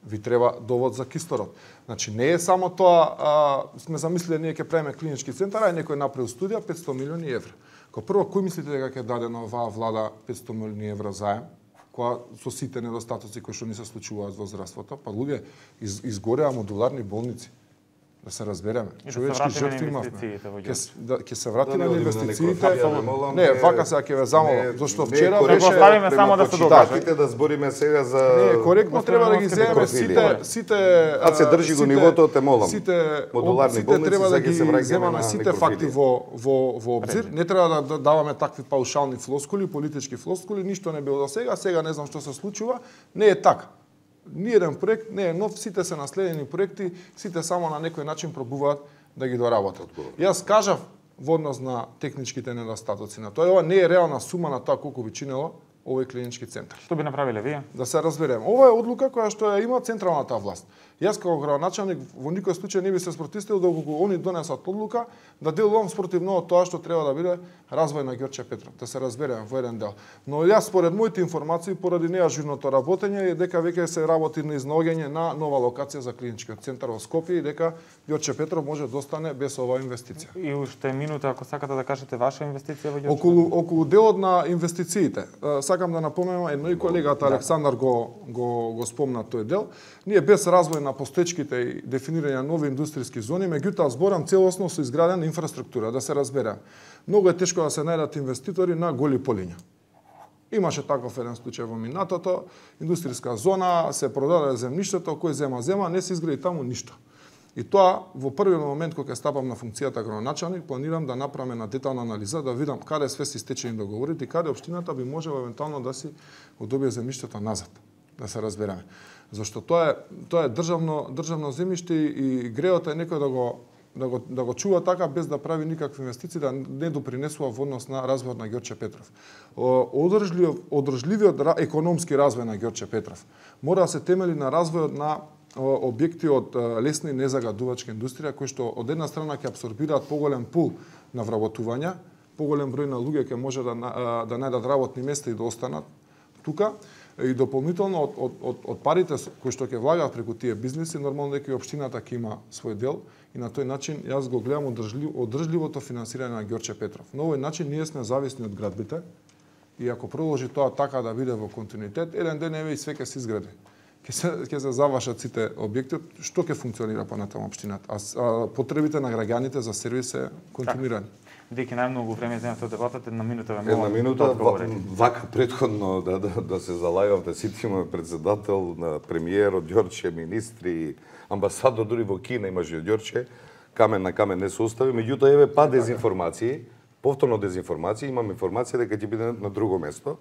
ви треба довод за кислород. Значи не е само тоа, а, сме замислили ние ќе правиме клинички центар, а некој направил студија петстотини милиони евра. Ко прво, кој мислите дека ќе даде на оваа влада петстотини милиони евра заем, која со сите недостатоци кои што ни се случуваат во здравството? Па луѓе, из, изгореа модуларни болници. Да се разбереме. И да се Човечки вратиме на жртви имавме. инвестициите во Ќе Ѓорче. с- да, ќе се врати Да не на одиме на некој инвестициите. кафе, да молам, Не, не- вака сега ќе ве замолам, не- зашто не вчера коректно беше Оставиме према само да се почитателите да збориме сега за Не, коректно треба да ги Оставиме земеме профили. сите сите А се држи го сите- нивото, те молам. Сите Модуларни сите болници, треба да сега ги се враќаме земаме на сите некрофили. факти во во во обзир. Не треба да- да даваме такви паушални флоскули, политички флоскули, ништо не било до сега, сега не знам што се случува. Не е така. Ниеден проект не е нов, сите се наследени проекти, сите само на некој начин пробуваат да ги доработат. Јас кажав во однос на техничките недостатоци на тоа, ова не е реална сума на тоа колку би чинело овој клинички центар. Што би направиле вие? Да се разберем. Ова е одлука која што ја има централната власт. Јас како градоначалник во никој случај не би се спротивил доколку они донесат одлука да делувам спротивно од тоа што треба да биде развој на Ѓорче Петров. Да се разбереме во еден дел. Но јас според моите информации поради неажурното работење е дека веќе се работи на изнаоѓање на нова локација за клиничкиот центар во Скопје и дека Ѓорче Петров може да остане без оваа инвестиција. И уште минута ако сакате да кажете ваша инвестиција во Ѓорче. Околу околу делот на инвестициите, е, сакам да напоменам, едно и колегата Александар го го го спомна тој дел. Ние без развој на постоечките и дефинирање на нови индустријски зони, меѓутоа зборам целосно со изградена инфраструктура, да се разбере. Многу е тешко да се најдат инвеститори на голи полиња. Имаше таков еден случај во минатото, индустријска зона, се продаде земјиштето, кој зема зема, не се изгради таму ништо. И тоа во првиот момент кога ќе стапам на функцијата градоначалник, планирам да направам една детална анализа, да видам каде све се стечени договорите и каде општината би можела евентуално да си го добие земјиштето назад, да се разбереме. Зашто тоа е тоа е државно државно земјиште и греот е некој да го да го да го чува така без да прави никакви инвестиции, да не допринесува во однос на развојот на Ѓорче Петров. Одржлив одржливиот економски развој на Ѓорче Петров мора да се темели на развојот на објекти од лесна и незагадувачка индустрија кои што од една страна ќе апсорбираат поголем пул на вработување, поголем број на луѓе ќе може да да најдат работни места и да останат тука. И дополнително од, од, од, од парите кои што ќе влагаат преку тие бизниси, нормално дека и општината ќе има свој дел и на тој начин јас го гледам одржлив, одржливото финансирање на Ѓорче Петров. На овој начин ние сме зависни од градбите и ако продолжи тоа така да биде во континуитет, еден ден еве и све ќе се изгради. Ќе се ќе се завршат сите објекти, што ќе функционира понатаму општината. А, а потребите на граѓаните за сервис се континуирани. Деки најмногу време земате од дебатата, една минута ве Една минута, вака предходно да, да, да се залагавте, сите имаме председател, на премиер од Ѓорче, министри, амбасадор, дури во Кина имаше од Ѓорче, камен на камен не се остави, меѓутоа еве па дезинформации, повторно дезинформација, имам информација дека ќе биде на друго место.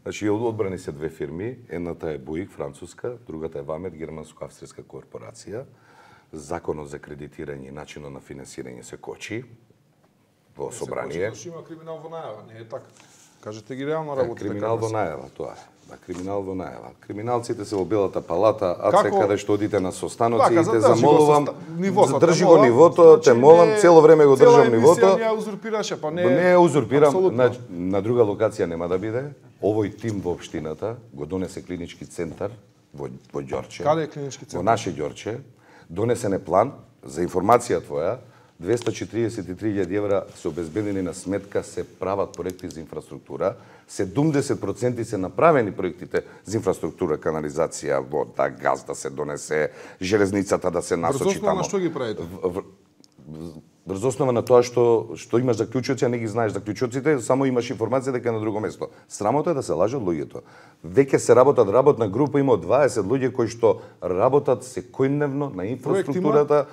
Значи, одбрани се две фирми, едната е Буик, француска, другата е Вамет, германско-австрийска корпорација. Законот за кредитирање и начинот на финансирање се кочи во собрание. Се има криминал во најава, не е така. Кажете ги реално работите. Криминал во најава, тоа е. Да, криминал во најава. Криминалците се во Белата палата, а се каде што одите на состаноци и те замолувам, задржи го нивото, те молам, цело време го држам нивото. Цела емисија не ја узурпираше, па не. Не ја узурпирам, на, на друга локација нема да биде. Овој тим во општината го донесе клинички центар во во Ѓорче. Каде е клинички центар? Во наше Ѓорче. Донесен е план за информација твоја. двеста четиридесет и три илјади евра се обезбедени на сметка, се прават проекти за инфраструктура. седумдесет проценти се направени проектите за инфраструктура, канализација, вода, газ да се донесе, железницата да се насочи Врз основа тамо. на што ги правите? Врз основа на тоа што што имаш заклучоци, а не ги знаеш заклучоците, само имаш информација дека е на друго место. Срамота е да се лаже од луѓето. Веќе се работат работна група, има дваесет луѓе кои што работат секојдневно на инфраструктурата.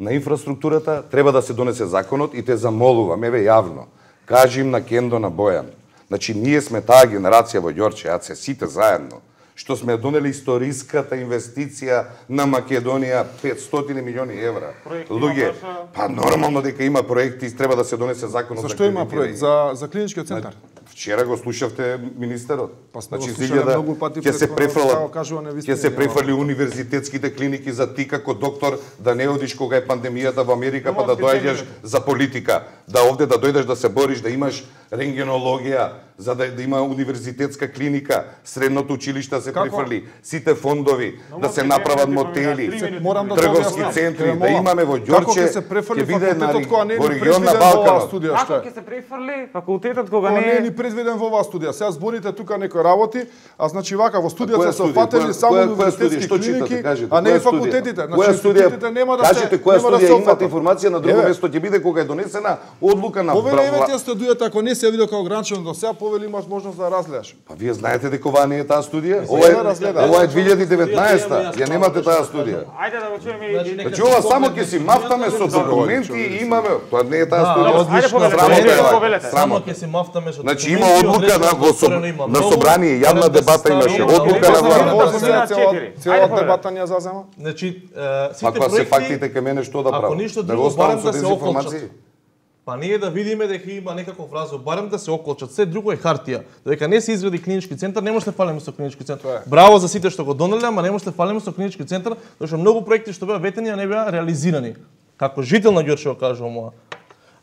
На инфраструктурата треба да се донесе законот и те замолувам, еве јавно. Кажи им на Кендо, на Бојан. Значи, ние сме таа генерација во Ѓорче, а се сите заедно, што сме донели историската инвестиција на Македонија петстотини милиони евра. Луѓе, па нормално дека има проекти, треба да се донесе законот за За што има проект? За за клиничкиот центар? Вчера го слушавте министерот. Па сме го Значи, слушале да, многу пати ќе се претходно, префрлат, како кажува невистини, ќе се нема. префрли универзитетските клиники за ти како доктор да не одиш кога е пандемијата во Америка па да доаѓаш за политика, да овде да дојдеш да се бориш, да имаш рентгенологија, за да, да има универзитетска клиника, средното училиште се префрли, сите фондови, да се направат мотели, Морам да трговски објаснам. центри, Ќе да молам. имаме во Како Ѓорче, ќе се префрли ќе биде на факултетот кога не е во ни регион на предвиден во оваа Балканот. студија, Како што е? ќе се префрли факултетот кога Кога не не е е ни предвиден во оваа студија. Сега зборите тука некои работи, а значи вака во која студијата се студија? опфатени Која- само која- која универзитетски студија? Што клиники, читате? Кажете, а не и која студија? факултетите. Која Значи студија? институтите нема да се Кажете која нема да се студија имате опфатат. информација на друго Еве. место ќе биде кога е донесена одлука на Повели еве Бра- тие студијата, ако не се видел како ограничено до сега, повели имаш можност да разгледаш. Па вие знаете дека ова не е таа студија? се Ова е ја разгледа. ова е две илјади и деветнаесета. Ја немате таа студија. Ајде да го чуеме и Значи ова само ќе си мафтаме со документи и имаме, тоа не е таа студија. Ајде повелете, Срамота е ајде вака. повелете. Само Срамота. ќе се мафтаме со Значи документи, има одлука одредено на во соб- отворено има на многу, собрание, јавна барем да се дебата имаше, стави на одлука на овој влада. дебат. Може Цела- цела Ајде, цела повелете. дебата ни ја зазема. Значи, е, сите Ако се проекти, фактите ке мене што да ако правам? ништо Да друго, го оставам барем со да се дезинформации? околчат. Па ние да видиме дека има некаков разлог, барем да се околчат. Се друго е хартија. Дека не се изгради клинички центар, не може да фалиме со клинички центар. Браво за сите што го донеле, ама не може да фалиме со клинички центар, зашто многу проекти што беа ветени, а не беа реализирани. Како жител на Ѓорче го кажувам ова.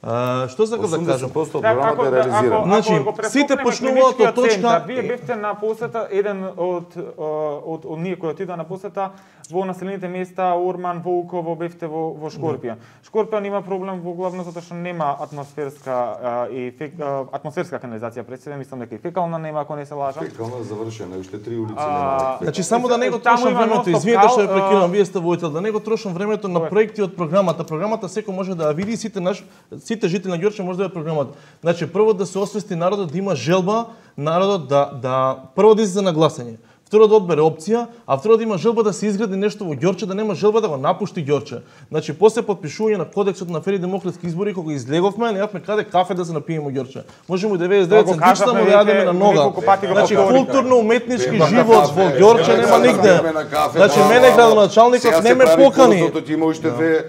А, што сакам да кажам? осумдесет проценти од програмата е реализирана. Значи, сите почнуваат од точка- Вие бевте на посета еден од од од ние кои отидоа на посета во населените места Орман, Волково, бевте во во Шкорпијан. Шкорпијан има проблем во главно затоа што нема атмосферска а, и фек, а, атмосферска канализација пред себе, мислам дека и фекална нема ако не се лажам. Фекална завршена, уште три улици А, нема. Значи само да не го Таму трошам има времето, нон-стоп извинете што ја кал, прекинувам, а, вие сте воител, да не го трошам времето на проекти од програмата. Програмата секој може да ја види, сите наш сите жители на Ѓорче може да ја програмат. Значи прво да се освести народот да има желба, народот да да прво да излезе на гласање. Второ да одбере опција, а второ да има желба да се изгради нешто во Ѓорче, да нема желба да го напушти Ѓорче. Значи после подпишување на кодексот на фери демократски избори кога излеговме, неавме каде кафе да се напиеме во Ѓорче. Можеме деветдесет и девет Тоа го центична кажавме му да јадеме веќе на нога. неколку пати го Значи повторивме. културно уметнички Бема на живот кафе, во Ѓорче бема нема на нигде. кафе, на кафе, Значи да, мене да. градоначалникот Сега не се ме прави покани. курсот, има уште две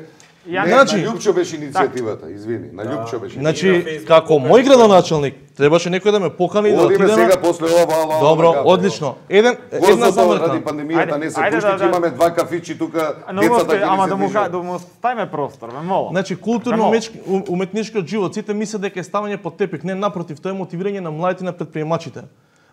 Ја Не, Значи- на Љупчо беше иницијативата, извини, на Љупчо беше. Значи, како мој градоначалник, требаше некој да ме покани да Одиме отидеме. сега после ова, ова, ова. Добро, ова, ова. одлично. Еден една Горзото замрка. ради пандемијата не се Ајде, пушти, да, ќе да. имаме два кафичи тука, Но децата мосте, ќе ама ни да се му ка- движат. да му ставиме простор, ме молам. Значи, културно Браво. умечки- у- уметничкиот живот, сите мислат дека е ставање под тепик. Не, напротив, тоа е мотивирање на младите, на предприемачите.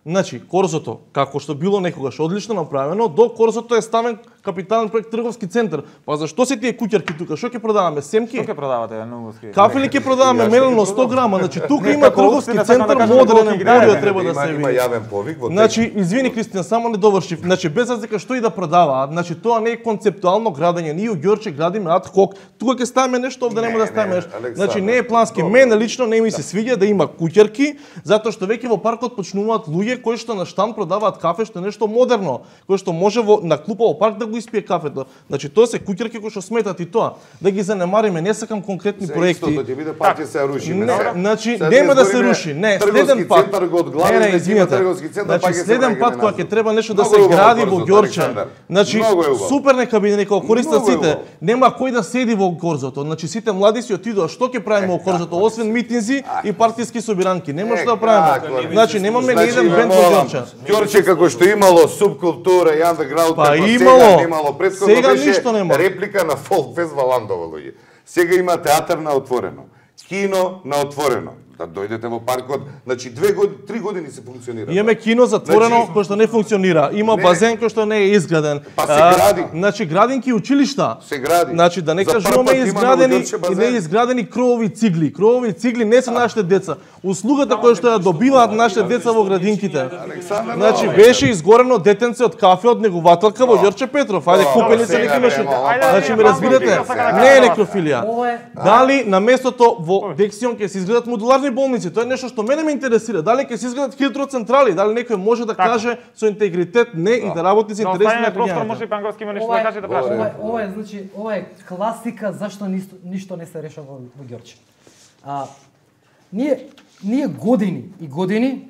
Значи, Корзото, како што било некогаш одлично направено, до Корзото е ставен капитален проект трговски центар. Па зашто се тие куќарки тука? Што ќе продаваме? Семки? Што ќе продавате на Нугоски? Кафели ќе продаваме мелено сто грама, значи тука Не, има како трговски општина, сакам центар, да кажам модерен колку ги емпорио дадеме, треба да Има- се Има види. јавен повик во Значи, извини Кристијан, само не довршив. Значи, без разлика што и да продаваат, значи тоа не е концептуално градење. Ние у Ѓорче градиме ад хок. Тука ќе ставиме нешто, овде нема Не, да ставиме не, нешто. Александр, Значи, не е плански. добро. Мене лично не ми се свиѓа да има куќарки, затоа што веќе во паркот почнуваат луѓе кои што на штан продаваат кафе, што е нешто модерно, кој што може во на клупа во парк да го испие кафето. Значи, тоа се куќарки кои што сметат и тоа. Да ги занемариме, не сакам конкретни Се проекти. истото ќе биде пак ќе се руши. Не, значи Сега нема да се збориме руши. Не, трговски следен пат. центар го Не, одглавиме, не, ќе има извинете. трговски центар, Значи пак ќе се следен враќаме пат кога назад. ќе треба нешто да Многу се е убаво гради во Корзото, Ѓорче. Александар. Значи Многу е убаво. супер нека биде, нека го користат Многу е сите. убаво. Нема кој да седи во Корзото. Значи сите млади си отидоа. Што ќе правиме во Корзото освен митинзи и партиски собиранки? Нема што да како правиме. не? Значи немаме ни Значи, еден ве бенд во молам, Ѓорче. Ѓорче како што имало субкултура и андеграунд, Па како имало. сега немало, претходно Сега беше ништо нема. реплика на Фолкфест во Ландово луѓе. Сега има театар на отворено, кино на отворено. Да дојдете во паркот, значи две години, три години се функционира. Имаме кино затворено Значи- кој што не функционира. Има Не. базен кој што не е изграден. Па се А, гради. Значи градинки училишта. Се гради. Значи да не За кажуваме прв пат имаме изградени во Ѓорче и базен. не изградени кровови цигли. Кровови цигли не се нашите деца. Услугата која што ја добиваат нашите деца во градинките. Александар, Значи молам. беше изгорено детенце од кафе од негователка во Ѓорче Петров. Ајде О, купени се сега неки бе, нешто. молам, Значи ме ајде, разбирате? ајде, ајде, Не е ајде, некрофилија. Ова е Дали на местото во Дексион ќе се изградат модуларни болници? Тоа е нешто што мене ме интересира. Дали ќе се изградат хидроцентрали? Дали некој може да каже со интегритет не и да работи со Но интереси оставиме на простор, може граѓаните? и Панговски има нешто ова да е, каже да ова праша. е, ова е, значи, ова е класика зашто ништо, ништо не се решава во, во Ѓорче. А, ние, ние години и години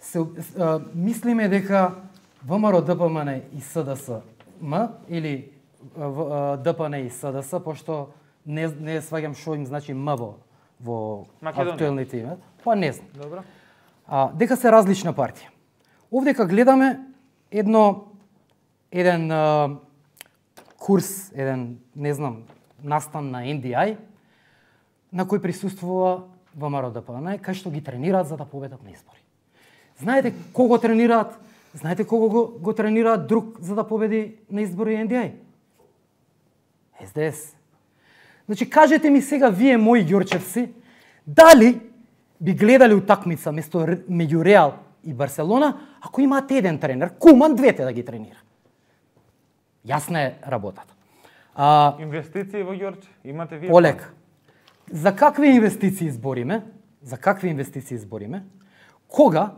се а, мислиме дека ВМРО, ДПМН и СДС-М или а, В- а, ДПН и СДС, пошто не, не сваѓам што им значи М во, во Македонија. актуелните име, па не знам. Добро. А, дека се различна партија. Овдека гледаме едно еден а, курс, еден, не знам, настан на Ен Ди Ај, на кој присуствува ВМРО ДПМН, кај што ги тренираат за да победат на избори. Знаете кого тренираат? Знаете кого го, го тренираат друг за да победи на избори Ен Ди Ај? Ес Де Ес. Значи, кажете ми сега, вие, мои ѓорчевци, дали би гледали утакмица место Р- меѓу Реал и Барселона, ако имаат еден тренер, Куман двете да ги тренира. Јасна е работата. А, Инвестиции во Ѓорче, имате вие? Олег, за какви инвестиции збориме? За какви инвестиции збориме? Кога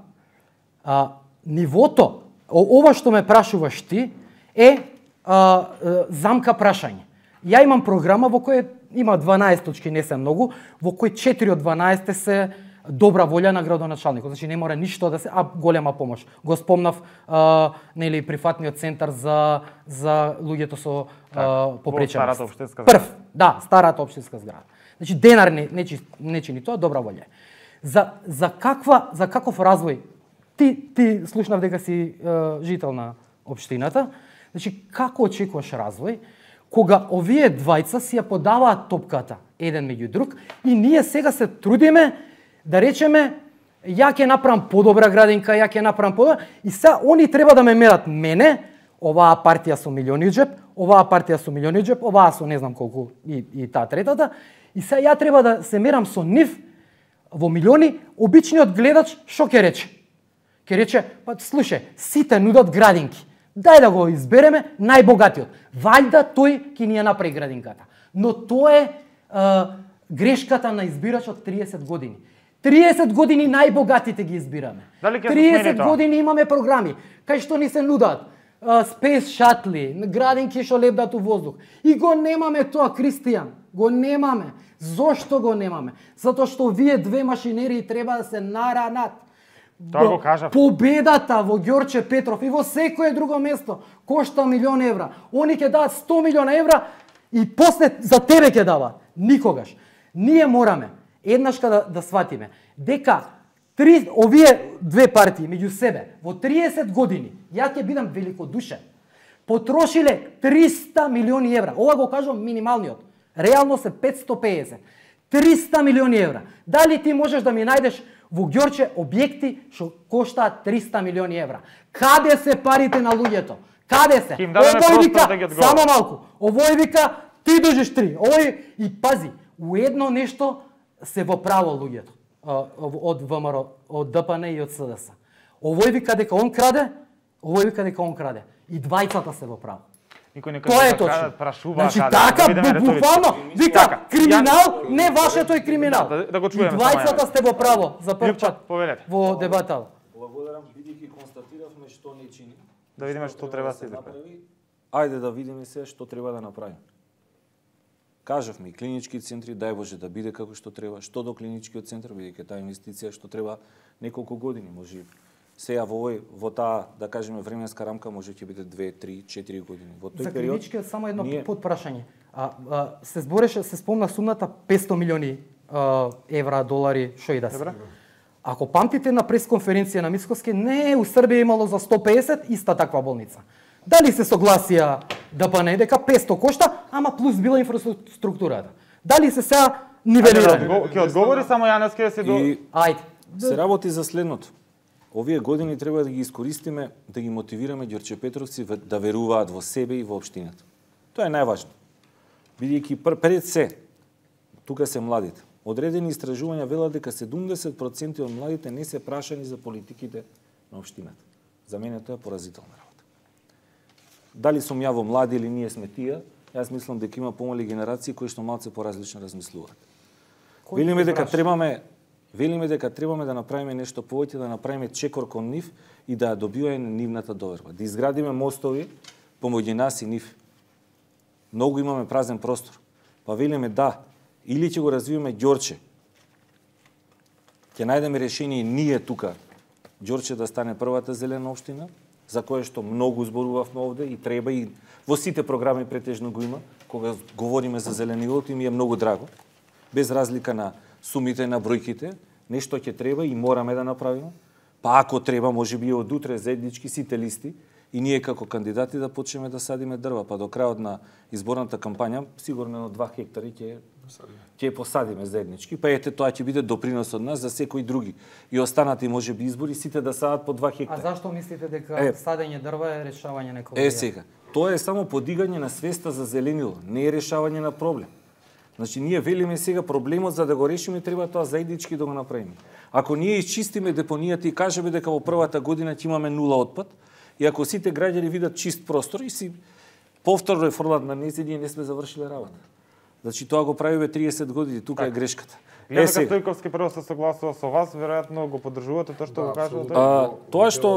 а, нивото, о- ова што ме прашуваш ти, е а, е, замка прашање. Ја имам програма во која има дванаесет точки, не се многу, во кои четири од дванаесет се добра волја на градоначалникот. Значи не мора ништо да се, а голема помош. Го спомнав а, нели прифатниот центар за за луѓето со а, попреченост. старата општинска зграда. Прв, да, старата општинска зграда. Значи денар не не, чи- не чини тоа, добра волја. е. За за каква за каков развој ти ти слушнав дека си е, жител на општината. Значи како очекуваш развој кога овие двајца си ја подаваат топката еден меѓу друг и ние сега се трудиме да речеме ја ќе направам подобра градинка, ја ќе направам подобра и сега они треба да ме мерат мене, оваа партија со милиони џеп, оваа партија со милиони џеп, оваа со не знам колку и, и таа третата и сега ја треба да се мерам со нив во милиони, обичниот гледач што ќе рече? Ќе рече, па слушај, сите нудат градинки. Дај да го избереме најбогатиот. Вајда тој ќе ни ја направи градинката. Но тоа е, е грешката на избирачот триесет години. триесет години најбогатите ги избираме. Дали ќе се триесет смени тоа? години имаме програми кај што ни се нудат спейс шатли, градинки што лебдат у воздух. И го немаме тоа, Кристијан. Го немаме. Зошто го немаме? Затоа што вие две машинерии треба да се наранат. Тоа го кажав. Победата во Ѓорче Петров и во секое друго место кошта милион евра. Они ќе дадат сто милиона евра и после за тебе ќе дава. Никогаш. Ние мораме еднашка да, да сватиме дека три, овие две партии меѓу себе во триесет години, ја ќе бидам великодушен, потрошиле триста милиони евра. Ова го кажувам минималниот. Реално се петсто педесет. триста милиони евра. Дали ти можеш да ми најдеш во Ѓорче објекти што коштаат триста милиони евра? Каде се парите на луѓето? Каде се? Овој вика, да само малку. Овој вика, ти дожиш три. Овој и пази, уедно нешто се во право луѓето од ВМРО, од ДПН и од СДС. Овој вика дека он краде, овој вика дека он краде. И двајцата се во право. Никој не Тоа е точно. Значи така буквално вика криминал, не вашето е криминал. Да, да го чуеме. И двајцата сте во право за прв пат во дебата. Благодарам, бидејќи констатиравме што не чини. Да видиме што треба да се направи. Ајде да видиме се што треба да направиме. Кажавме и клинички центри, дај Боже да биде како што треба. Што до клиничкиот центар, бидејќи таа инвестиција што треба неколку години, може сега во овој во таа, да кажеме, временска рамка може ќе биде две, три, четири години. Во тој за период клиничкиот само едно ние... подпрашање. А, а се збореше, се спомна сумната петсто милиони а, евра, долари, што и да се. Ако памтите на пресконференција на Мицкоски, не у Србија имало за сто педесет иста таква болница. Дали се согласија ДПН дека петсто кошта, ама плюс била инфраструктурата. Дали се сега нивелира? Ќе одговори само Јаневски да се до... Ајде. Се работи за следното. Овие години треба да ги искористиме, да ги мотивираме ѓорчепетровци да веруваат во себе и во општината. Тоа е најважно. Бидејќи пред се, тука се младите. Одредени истражувања велат дека седумдесет проценти од младите не се прашани за политиките на општината. За мене тоа е поразителна работа. Дали сум ја во млади или ние сме тие, јас мислам дека има помали генерации кои што малце поразлично размислуваат. Велиме дека требаме Велиме дека требаме да направиме нешто повеќе, да направиме чекор кон нив и да ја добиваме нивната доверба. Да изградиме мостови помеѓу нас и нив. Многу имаме празен простор. Па велиме да, или ќе го развиваме Ѓорче. Ќе најдеме решение ние тука, Ѓорче да стане првата зелена општина, за кое што многу зборувавме овде и треба и во сите програми претежно го има, кога говориме за зеленилото и ми е многу драго. Без разлика на сумите на бројките, нешто ќе треба и мораме да направиме. Па ако треба, може би од утре заеднички сите листи и ние како кандидати да почнеме да садиме дрва, па до крајот на изборната кампања сигурно на два хектари ќе ќе посадиме заеднички. Па ете тоа ќе биде допринос од нас за секои други. И останати можеби избори сите да садат по два хектари. А зашто мислите дека е, садење дрва е решавање на екологија? Е сега, тоа е само подигање на свеста за зеленило, не е решавање на проблем. Значи, ние велиме сега проблемот за да го решиме, треба тоа заеднички да го направиме. Ако ние изчистиме депонијата и кажеме дека во првата година ќе имаме нула отпад, и ако сите граѓани видат чист простор и си повторно е фрлат на нези, ние не сме завршиле работа. Значи, тоа го правиме триесет години, тука так е грешката. Вие дека Стојковски прво се согласува со вас, веројатно го поддржувате тоа што да, го кажува тој? Тоа што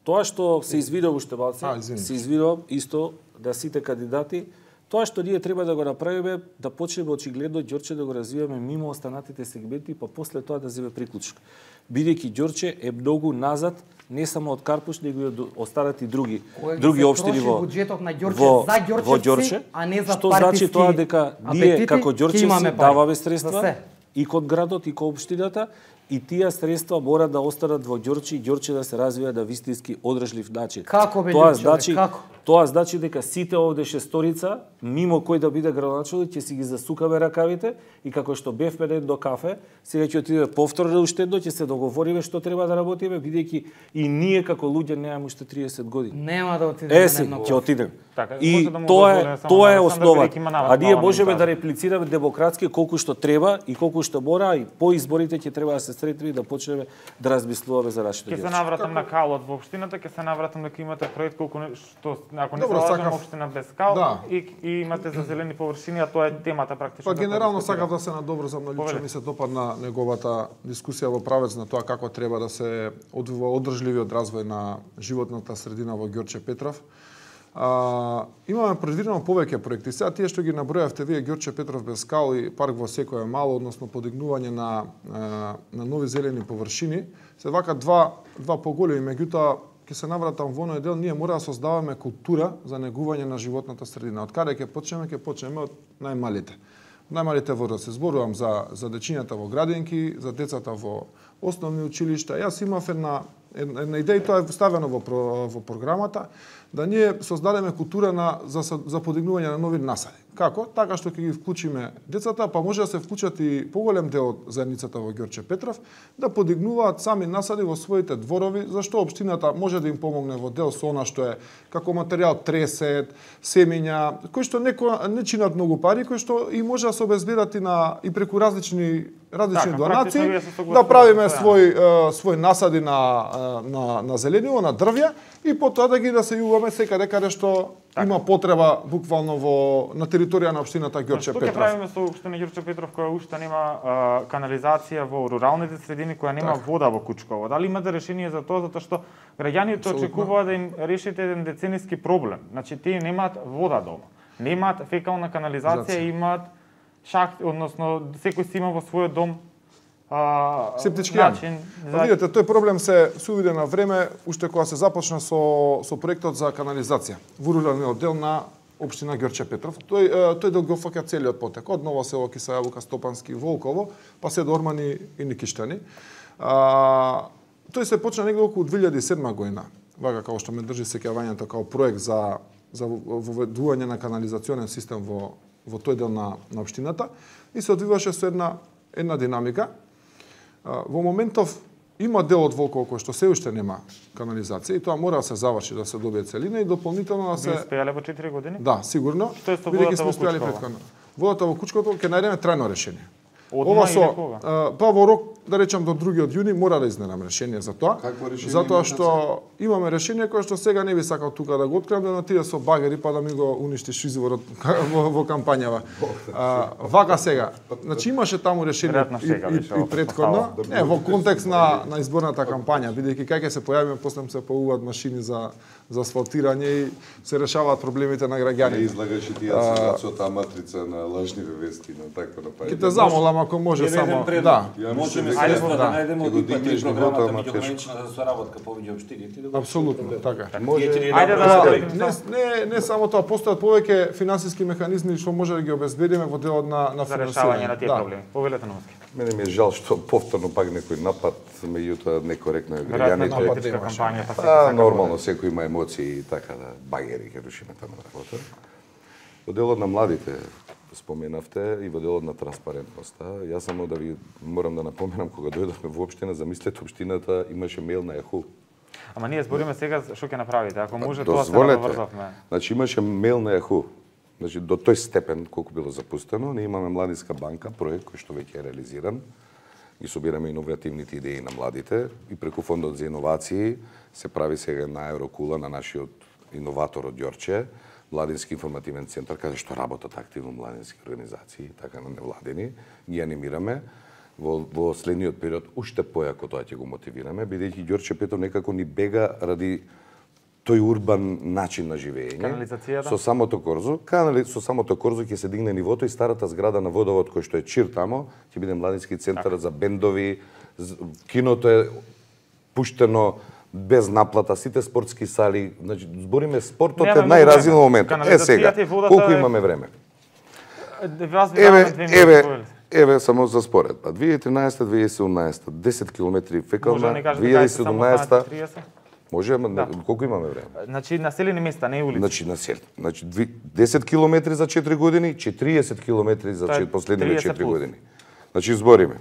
тоа што се извидува уште балце, се извидува исто да сите кандидати. Тоа што ние треба да го направиме, да почнеме очигледно Ѓорче да го развиваме мимо останатите сегменти, па после тоа да земе приклучок. Бидејќи Ѓорче е многу назад, не само од Карпуш, него и од останати други Кој други општини во буџетот на Ѓорче во, за Ѓорчевци, во Ѓорче, а не за што значи тоа дека ние како Ѓорчевци даваме средства и кон градот и кон општината, и тие средства мора да останат во Ѓорче и Ѓорче да се развија на вистински одржлив начин. Како бе, тоа човек, значи, како? Тоа значи дека сите овде шесторица, мимо кој да биде градоначелник, ќе си ги засукаме ракавите и како што бевме на едно кафе, сега ќе отидеме повторно уште едно, ќе се договориме што треба да работиме, бидејќи и ние како луѓе немаме уште триесет години. Нема да отидеме на едно кафе. Ќе отидеме. Така, и да тоа е тоа е основа. А ние можеме да да реплицираме демократски колку што треба и колку што мора, и по изборите ќе треба да се сретнеме и да почнеме да размислуваме за нашите Ќе се навратам на калот во општината, ќе се навратам дека имате проект колку што ако не се лажам општина без кал да. и, и имате за зелени површини, а тоа е темата практично. Па генерално сакав да се надобрзам на Лјупче, ми се допадна неговата дискусија во правец на тоа како треба да се одвива одржливиот развој на животната средина во Ѓорче Петров. А, имаме предвидено повеќе проекти. Сега тие што ги набројавте вие, Ѓорче Петров без скал и парк во секое мало, односно подигнување на на нови зелени површини, се вака два два поголеми, меѓутоа ќе се навратам во оној дел, ние мора да создаваме култура за негување на животната средина. Од каде ќе почнеме? Ќе почнеме од најмалите. Најмалите возрасти. Зборувам за за дечињата во градинки, за децата во основни училишта. Јас имав една една идеја, тоа е ставено во во програмата, да ние создадеме култура на за за подигнување на нови насади. Како? Така што ќе ги вклучиме децата, па може да се вклучат и поголем дел од заедницата во Ѓорче Петров, да подигнуваат сами насади во своите дворови, зашто општината може да им помогне во дел со она што е како материјал тресет, семења, кои што некој не чинат многу пари, кои што и може да се обезбедат и на и преку различни различни така, донации, да правиме свој свој насади на на на зелениво, на дрвја и потоа да ги да се јуваме секаде каде што така има потреба буквално во на територија на општината Ѓорче Петров. Што ќе правиме со општина Ѓорче Петров која уште нема а, канализација во руралните средини, која нема так вода во Кучково? Дали имате решение за тоа, затоа што граѓаните очекуваат да им решите еден децениски проблем. Значи тие немаат вода дома, немаат фекална канализација, имаат шахт, односно секој си има во својот дом а, септички јами. За... Видите, тој проблем се сувиде на време уште кога се започна со со проектот за канализација во руралниот дел на општина Ѓорче Петров. Тој тој дел го фаќа целиот потек од Ново село, Киса Јабука, Стопански, Волково, па се до Ормани и Никиштани. А, тој се почна негде околу две илјади и седма година. Вака како што ме држи сеќавањето како проект за за воведување на канализационен систем во во тој дел на на општината и се одвиваше со една една динамика. Во моментов има дел од Волково кој што се уште нема канализација и тоа мора да се заврши, да се добие целина и дополнително да се... Ви успеале во четири години? Да, сигурно. Што е со водата во Кучково? Водата во Кучково ќе најдеме трајно решение. Одма со, или кога? Па во рок, да речам до другиот јуни, мора да изненам решение за тоа. Какво решение? Затоа што имаме решение кое што сега не би сакал тука да го откриам, да натиде со багери па да ми го уништиш изворот во, во кампањава. А, вака сега. Значи имаше таму решение и, и, и предходно, не, во контекст на на изборната кампања, бидејќи кај ќе се појавиме, после се поуват машини за за асфалтирање и се решаваат проблемите на граѓаните. Не излагаш и ти ја со таа матрица на лажниве вести, на такво напаѓање. Ќе те замолам ако може само да. Можеме средства да најдеме од ИПА-три програмата меѓуграничната соработка повеќе општините. Апсолутно, така. Може. Ајде да не не не само тоа, постојат повеќе финансиски механизми што може да ги обезбедиме во делот на на за решавање на тие проблеми. Повелете на Моски. Мене ми е жал што повторно пак некој напад, меѓутоа некоректно е граѓаните. А, нормално, секој има емоции и така да багери ќе рушиме таму работа. Во делот на младите споменавте и во делот на транспарентноста. Јас само да ви морам да напоменам кога дојдовме во општина, замислете општината имаше мејл на Јаху. Ама ние збориме сега што ќе направите, ако може тоа се наврзавме. Значи имаше мејл на Јаху. Значи до тој степен колку било запустено, ние имаме младинска банка, проект кој што веќе е реализиран. Ги собираме иновативните идеи на младите и преку фондот за иновации се прави сега една еврокула на нашиот иноватор од Ѓорче, Младински информативен центар, каде што работат активно младински организации, така на невладени, ги анимираме. Во, во следниот период уште појако тоа ќе го мотивираме, бидејќи Ѓорче Петров некако ни бега ради тој урбан начин на живење. Канализацијата? Со самото корзо, канали, со самото корзо ќе се дигне нивото и старата зграда на водовод кој што е чир тамо, ќе биде младински центар так за бендови, киното е пуштено без наплата, сите спортски сали, значи збориме спортот е најразвил момент. Е сега, колку имаме време? Еве, еве, еве само за споредба. две илјади и тринаесета две илјади и седумнаесета десет километри фекална, две илјади и седумнаесета може, ама да. Колку имаме време? Значи населени места, не улици. Значи населени. Значи десет километри за четири години, четириесет километри за чет, последниве четири години. Значи збориме.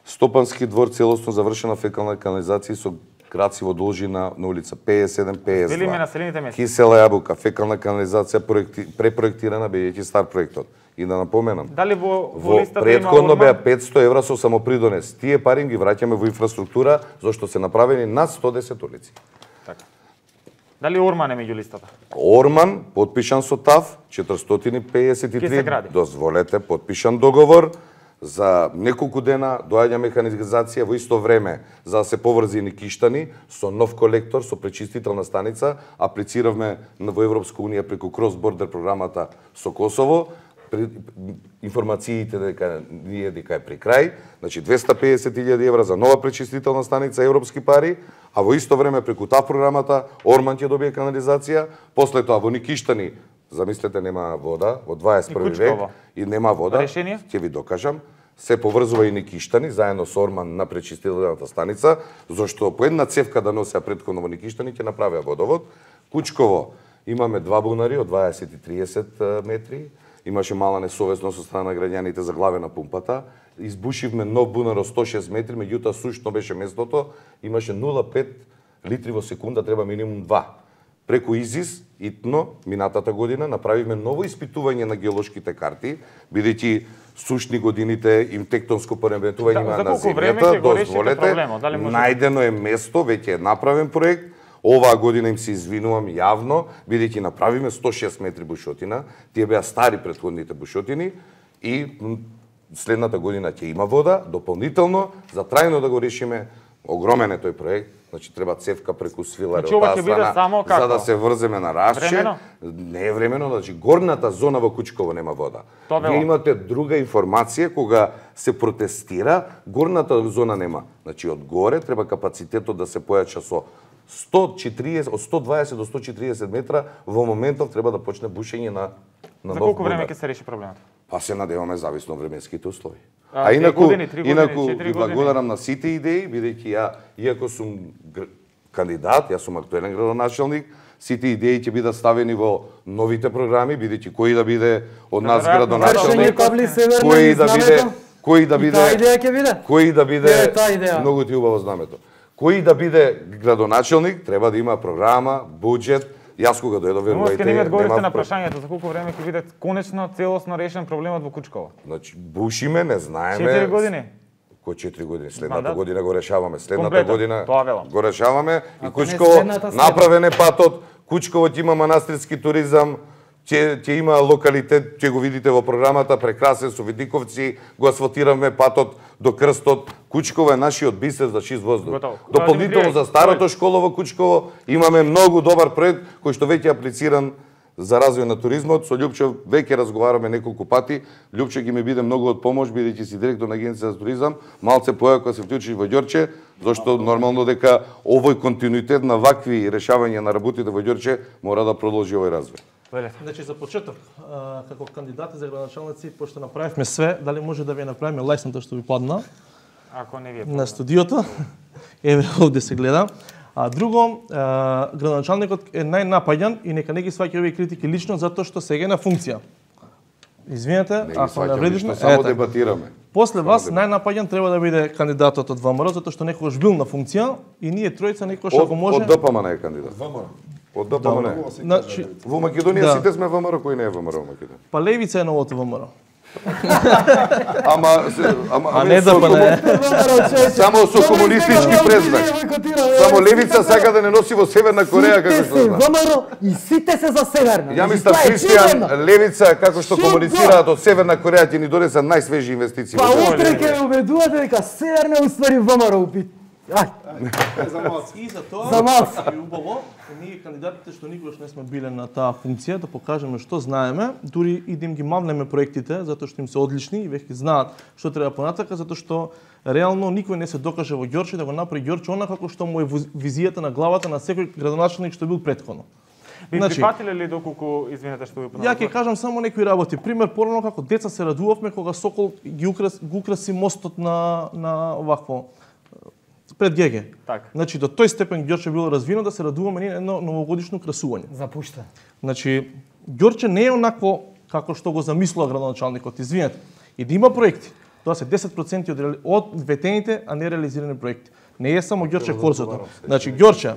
Стопански двор целосно завршена фекална канализација со краци во должина на улица петдесет и седум петдесет и два. Велиме населените места. Кисела Јабука, фекална канализација проекти, препроектирана бидејќи стар проектот. И да напоменам. Дали во во, во листата претходно беа петсто евра со самопридонес. Тие пари ги враќаме во инфраструктура зашто се направени над сто десет улици. Така. Дали Орман е меѓу листата? Орман потпишан со ТАВ четиристотини педесет и три. Дозволете потпишан договор. За неколку дена доаѓа механизација во исто време за да се поврзи Никиштани со нов колектор, со пречистителна станица. Аплициравме во Европска унија преку Cross Border програмата со Косово. информациите дека ние дека е при крај, значи двесте и педесет илјади евра за нова пречистителна станица, европски пари, а во исто време преку таа програмата Орман ќе добие канализација, после тоа во Никиштани, замислете, нема вода, во дваесет и први век и нема вода. Решение? Ќе ви докажам. Се поврзува и Никиштани заедно со Орман на пречистителната станица, зашто по една цевка да носеа претходно во Никиштани ќе направеа водовод. Кучково имаме два бунари од дваесет и триесет метри. Имаше мала несовесност со страна на граѓаните за главе на пумпата. Избушивме нов бунар од сто и шест метри, меѓутоа сушно беше местото. Имаше нула целу пет литри во секунда, треба минимум два. Преку ИЗИС, итно, минатата година, направивме ново испитување на геолошките карти, бидејќи сушни годините и тектонско пореметување има на земјата, дозволете, најдено е место, веќе е направен проект. Оваа година им се извинувам јавно, бидејќи направиме сто и шест метри бушотина, тие беа стари претходните бушотини и следната година ќе има вода, дополнително, за трајно да го решиме, огромен е тој проект, значи треба цевка преку Свиларе од таа страна, за да се врземе на Равче. Не е времено, значи горната зона во Кучково нема вода. Вие имате друга информација, кога се протестира, горната зона нема. Значи од горе треба капацитетот да се појача со сто и четириесет, од сто и дваесет до сто и четириесет метра, во моментов треба да почне бушење на, на За колку време ќе се реши проблемот? Па се надеваме зависно од временските услови. А, а инаку, години, години, инаку ви благодарам на сите идеи, бидејќи ја, иако сум кандидат, јас сум актуелен градоначелник, сите идеи ќе бидат ставени во новите програми, бидејќи кој да биде од нас градоначелник, кој да биде, кој да биде, кој да биде, многу ти убаво знамето. Кој да биде градоначелник, треба да има програма, буџет. Јас кога дојдов, верувајте, нема. Одговорите на прашањето за колку време ќе биде конечно целосно решен проблемот во Кучково? Значи бушиме, не знаеме. четири години. Кој четири години? Следната година го решаваме. Следната Комплетно. година Тоа го решаваме и Кучково направен е патот. Кучково ќе има манастирски туризам, ќе ќе има локалитет, ќе го видите во програмата, прекрасен со видиковци, го асфалтираме патот до крстот. Кучково е нашиот бисер за чист воздух. Дополнително за старото школа во Кучково имаме многу добар проект кој што веќе е аплициран за развој на туризмот. Со Љупчо веќе разговараме неколку пати. Љупчо ќе ми биде многу од помош, бидејќи си директор на Агенција за туризам. Малце појако се вклучи во Ѓорче, зашто нормално дека овој континуитет на вакви решавања на работите во Ѓорче мора да продолжи овој развој. Значи за почеток, како кандидати за градоначалници, пошто направивме све, дали може да ви направиме лајсното што ви падна? Ако не ви е на студиото. Еве овде се гледа. А друго, градоначалникот е најнапаѓан и нека не ги сваќа овие критики лично затоа што сега е на функција. Извинете, ако навредивме, само дебатираме. После вас најнапаѓан треба да биде кандидатот од ВМРО затоа што некогаш бил на функција и ние тројца некогаш ако може. Од ДПМН е кандидат. ВМРО. Од ДПМН. Значи во Македонија сите сме ВМРО, кој не е ВМРО во Македонија. Па левица е новото ВМРО. Ама, ама, а не да пане. Само со комунистички презнак. Само левица сака да не носи во Северна Кореја како што знам. ВМРО и сите се за Северна. Ја мислам Христијан левица како што комуницираат од Северна Кореја ќе ни донесат најсвежи инвестиции. Па утре ќе ме убедувате дека Северна уствари ВМРО упит. Ај. За малци. И за тоа, за малци. И убаво, ние кандидатите што никогаш не сме биле на таа функција, да покажеме што знаеме, дури и да им ги мавнеме проектите, затоа што им се одлични и веќе знаат што треба понатака, затоа што реално никој не се докаже во Ѓорче да го направи Ѓорче онака како што му е визијата на главата на секој градоначалник што бил претходно. Ви значи, прифатиле ли доколку, извинете што ви понатака? Ја ќе кажам само некои работи. Пример, порано како деца се радувавме кога Сокол ги украс, го украси мостот на на овакво пред ГГ. Так. Значи до тој степен Ѓорче било развино да се радуваме ние едно новогодишно красување. Запушта. Значи Ѓорче не е онакво како што го замислува градоначалникот, извинете. И да има проекти. Тоа се десет проценти од, од ветените, а не реализирани проекти. Не е само Ѓорче Корзото. Значи Ѓорче,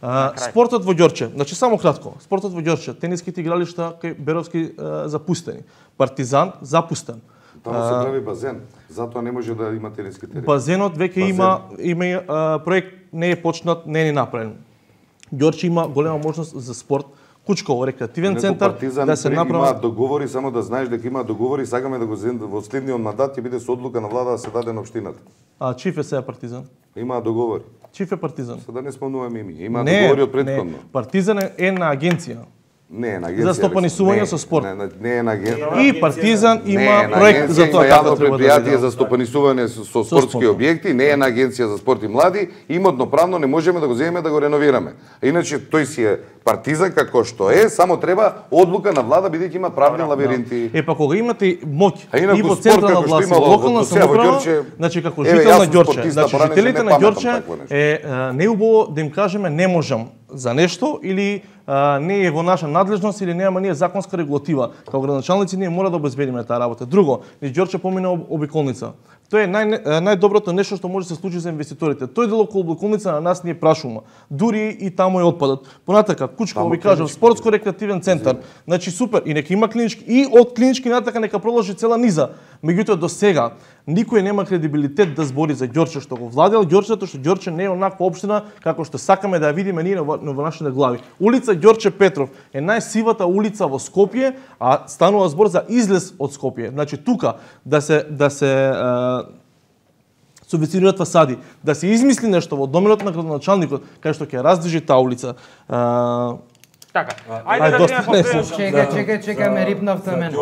а, спортот во Ѓорче, значи само кратко, спортот во Ѓорче, тениските игралишта кај Беровски а, запустени. Партизан запустен. Таму се прави базен, затоа не може да има тениски терен. Базенот веќе има има а, проект не е почнат, не е направен. Ѓорче има голема можност за спорт. Кучково рекреативен центар да се направи. Има договори, само да знаеш дека има договори, сакаме да го во следниот мандат ќе биде со одлука на влада да се даде на општината. А чиф е сега Партизан? Има договори. Чиф е Партизан? Се да не спомнуваме име. Има не, договори од претходно. Не, Партизан е една агенција. Не е на агенција. За стопанисување со спорт. Не, не е на агенција. И Партизан има не, проект за тоа како треба да предпријатие за стопанисување со спортски објекти, не е на агенција за спорт и млади, имотно правно не можеме да го земеме да го реновираме. А иначе тој си е Партизан како што е, само треба одлука на влада бидејќи има правни лабиринти. Е па кога имате моќ и во спорт, централна власт и локална самоуправа, Ѓорче, значи како еве, жител јас на сум Ѓорче, спортиста, значи баране, жителите не на памтам Ѓорче такво нешто. е а, неубаво да им кажеме не можам за нешто или а, не е во наша надлежност или нема ние законска регулатива. Како градоначалници ние мора да обезбедиме таа работа. Друго, низ Ѓорче помина об- обиколница. Тоа е нај, најдоброто нешто што може да се случи за инвеститорите. Тој дел околу обиколница на нас не е прашувано. Дури и таму е отпадот. Понатака, Кучково ви кажав, спортско-рекреативен центар. Значи супер, и нека има клинички и од клинички натака нека продолжи цела низа. Меѓутоа до сега никој нема кредибилитет да збори за Ѓорче што го владел Ѓорче, затоа што Ѓорче не е онаква општина како што сакаме да ја видиме ние во, во нашите глави. Улица Ѓорче Петров е најсивата улица во Скопје, а станува збор за излез од Скопје. Значи тука да се да се а, субвенционираат фасади, да се измисли нешто во доменот на градоначалникот кај што ќе раздвижи таа улица. А, Така, Ајде, ајде да доста видиме не, последно. Чекај, чекај, чекај, ме рипнавте мене.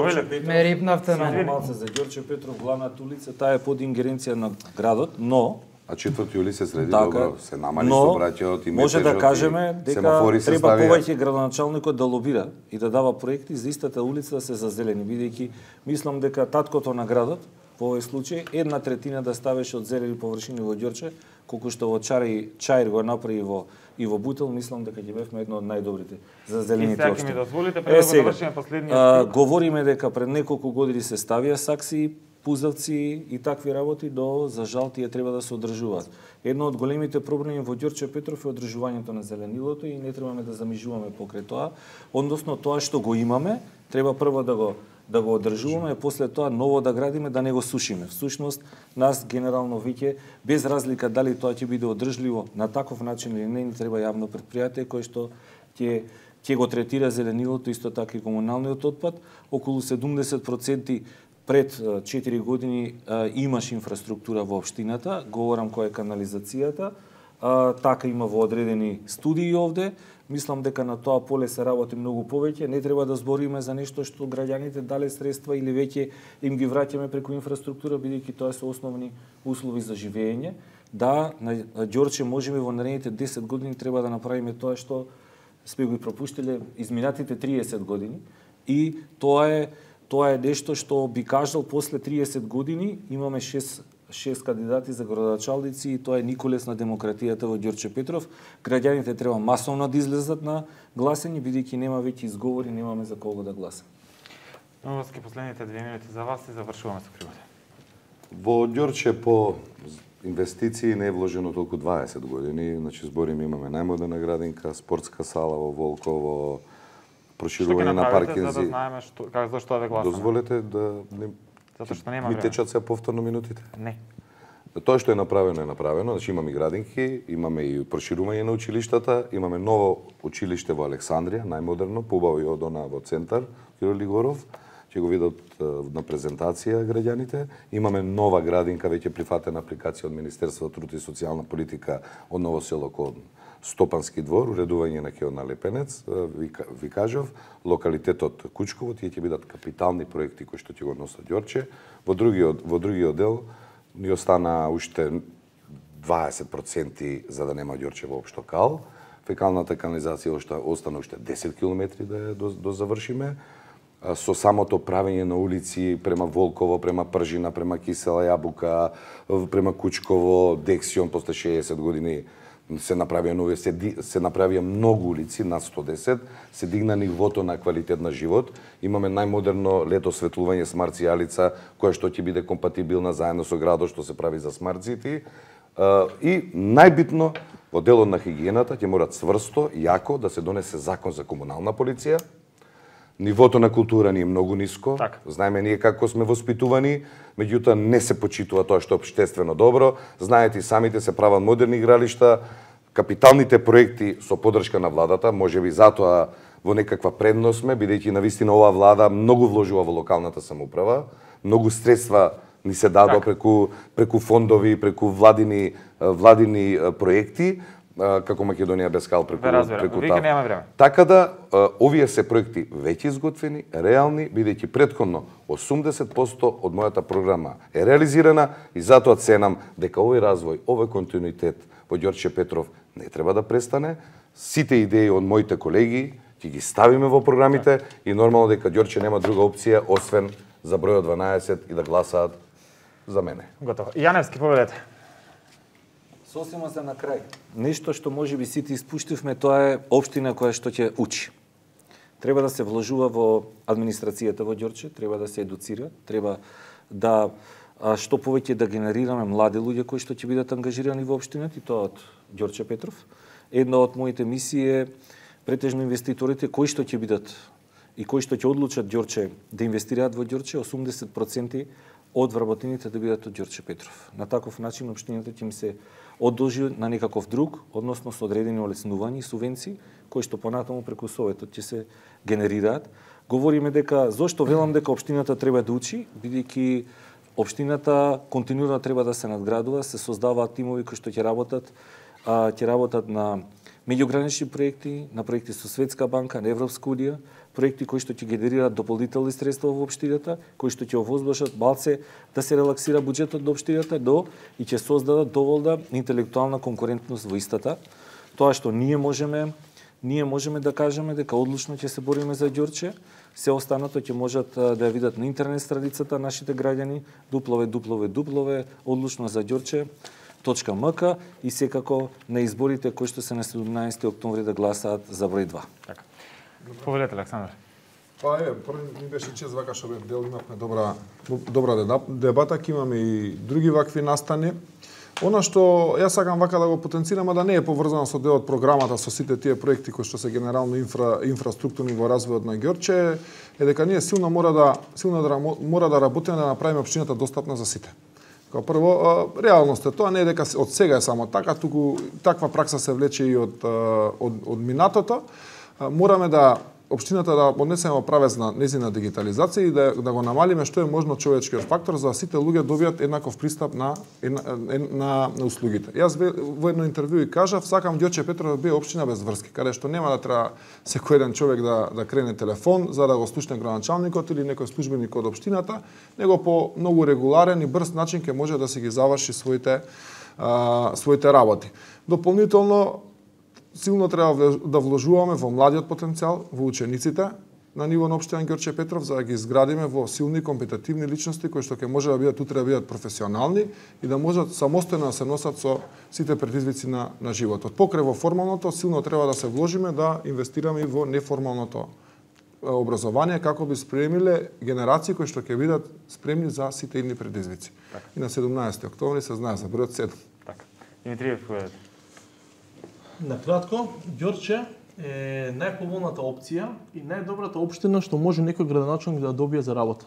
Ме рипнавте мене. Малце за Ѓорче Петров, главната улица, таа е под ингеренција на градот, но А четврти јули се среди, така, добро, се намали но сообраќајот и може да метежот, кажеме и дека семафори се треба ставија. повеќе градоначалникот да лобира и да дава проекти за истата улица да се зазелени, бидејќи мислам дека таткото на градот во овој случај една третина да ставеше од зелени површини во Ѓорче, колку што во Чари Чаир го направи во и во Бутел, мислам дека ќе бевме едно од најдобрите за зелените И сега ќе општини. ми дозволите пред да го завршиме последниот стик. Говориме дека пред неколку години се ставија сакси, пузавци и такви работи, до за жал тие треба да се одржуваат. Едно од големите проблеми во Ѓорче Петров е одржувањето на зеленилото и не требаме да замижуваме покрај тоа, односно тоа што го имаме, треба прво да го да го одржуваме, и после тоа ново да градиме, да не го сушиме. Всушност, нас генерално веќе, без разлика дали тоа ќе биде одржливо на таков начин или не, ни треба јавно предпријатие кој што ќе ќе го третира зеленилото, исто така и комуналниот отпад. Околу седумдесет проценти пред четири години а, имаш инфраструктура во општината, говорам која е канализацијата, а, така има во одредени студии овде. Мислам дека на тоа поле се работи многу повеќе, не треба да збориме за нешто што граѓаните дале средства или веќе им ги враќаме преку инфраструктура, бидејќи тоа се основни услови за живење. Да, на Ѓорче можеме во наредните десет години треба да направиме тоа што сме го и пропуштиле изминатите триесет години, и тоа е тоа е нешто што би кажал после триесет години имаме шест шест кандидати за градоначалници, и тоа е николес на демократијата во Ѓорче Петров. Граѓаните треба масовно да излезат на гласење, бидејќи нема веќе изговори, немаме за кого да гласаме. Новоски, последните две минути за вас и завршуваме со кривоте. Во Ѓорче по инвестиции не е вложено толку дваесет години, значи збориме имаме најмодерна градинка, спортска сала во Волково, проширување на паркинзи. За да знаеме што како зашто да гласаме? Дозволете да не Затоа што нема ми време. течат се повторно минутите. Не. Тоа што е направено е направено, значи имаме и градинки, имаме и проширување на училиштата, имаме ново училиште во Александрија, најмодерно, побаво и од она во центар, Киро Лигоров, ќе го видат на презентација граѓаните. Имаме нова градинка, веќе прифатена апликација од Министерството за труд и социјална политика од Ново село кон Стопански двор, уредување на Кеона Лепенец, ви, ви кажав, локалитетот Кучково, тие ќе бидат капитални проекти кои што ќе го носат Ѓорче. Во другиот во другиот дел ни остана уште дваесет проценти за да нема Ѓорче воопшто кал. Фекалната канализација уште остана уште десет километри да ја до, до завршиме. Со самото правење на улици према Волково, према Пржина, према Кисела Јабука, према Кучково, Дексион, после шеесет години се направија нови, се, се направија многу улици, над сто десет, се дигна нивото на квалитет на живот. Имаме најмодерно лето осветлување смарт сијалица, која што ќе биде компатибилна заедно со градот што се прави за смарт сити. И најбитно, во делот на хигиената ќе мора цврсто, јако да се донесе закон за комунална полиција. Нивото на култура ни е многу ниско. Так. Знаеме ние како сме воспитувани, меѓутоа не се почитува тоа што е општествено добро. Знаете и самите се прават модерни игралишта, капиталните проекти со поддршка на владата, можеби затоа во некаква предност сме, бидејќи навистина оваа влада многу вложува во локалната самоуправа, многу средства ни се дадоа преку преку фондови, преку владини владини проекти. како Македонија без кал преку преку Вика нема време. Така да овие се проекти веќе изготвени, реални, бидејќи претходно осумдесет проценти од мојата програма е реализирана и затоа ценам дека овој развој, овој континуитет во Ѓорче Петров не треба да престане. Сите идеи од моите колеги ќе ги ставиме во програмите и нормално дека Ѓорче нема друга опција освен за бројот дванаесет и да гласаат за мене. Готово. Јаневски, поведете. Сосема за на крај. Нешто што може би сите испуштивме, тоа е општина која што ќе учи. Треба да се вложува во администрацијата во Ѓорче, треба да се едуцира, треба да а, што повеќе да генерираме млади луѓе кои што ќе бидат ангажирани во општината и тоа од Ѓорче Петров. Една од моите мисии е претежно инвеститорите кои што ќе бидат и кои што ќе одлучат Ѓорче да инвестираат во Ѓорче, осумдесет проценти од вработените да бидат од Ѓорче Петров. На таков начин општината ќе им се одолжи на некаков друг, односно со одредени олеснувања и субвенции, кои што понатаму преку Советот ќе се генерираат. Говориме дека, зошто велам дека општината треба да учи, бидејќи општината континуирано треба да се надградува, се создаваат тимови кои што ќе работат, а, ќе работат на меѓугранични проекти, на проекти со Светска банка, на Европска унија, проекти кои што ќе генерираат дополнителни средства во општината, кои што ќе овозможат малце да се релаксира буџетот до општината, до и ќе создадат доволна интелектуална конкурентност во истата. Тоа што ние можеме, ние можеме да кажеме дека одлучно ќе се бориме за Ѓорче, се останато ќе можат да ја видат на интернет страницата нашите граѓани дупл ю дупл ю дупл ю одлучно за Ѓорче точка ем ка и секако на изборите кои што се на седумнаесети октомври да гласаат за број два. Така. Повелете, Александар. Па е, први ми беше чест вака што бев дел, имавме добра добра дебата, ќе имаме и други вакви настани. Она што јас сакам вака да го потенцирам, а да не е поврзано со дел од програмата со сите тие проекти кои што се генерално инфра инфраструктурни во развојот на Ѓорче, е дека ние силно мора да силно да мора да работиме да направиме општината достапна за сите. Као прво, реалност е тоа, не е дека од сега е само така, туку таква пракса се влече и од од, од минатото. Мораме да општината да однесеме во правец на незина дигитализација и да, да го намалиме што е можно човечкиот фактор за да сите луѓе добијат еднаков пристап на, на, на, на услугите. Јас во едно интервју и кажав, сакам Ѓорче Петров да биде општина без врски, каде што нема да треба секој еден човек да, да крене телефон за да го слушне градоначалникот или некој службеник од општината, него по многу регуларен и брз начин ќе може да си ги заврши своите, а, своите работи. Дополнително, силно треба да вложуваме во младиот потенцијал, во учениците на ниво на општина Ѓорче Петров, за да ги изградиме во силни компетитивни личности кои што ќе може да бидат утре да бидат професионални и да можат самостојно да се носат со сите предизвици на на животот. Покрај во формалното, силно треба да се вложиме да инвестираме и во неформалното образование како би спремиле генерации кои што ќе бидат спремни за сите идни предизвици. Так. И на седумнаесети октомври се знае за бројот седум. Така. Димитриев, поведете. Накратко, Ѓорче е најповолната опција и најдобрата општина што може некој градоначалник да добие за работа.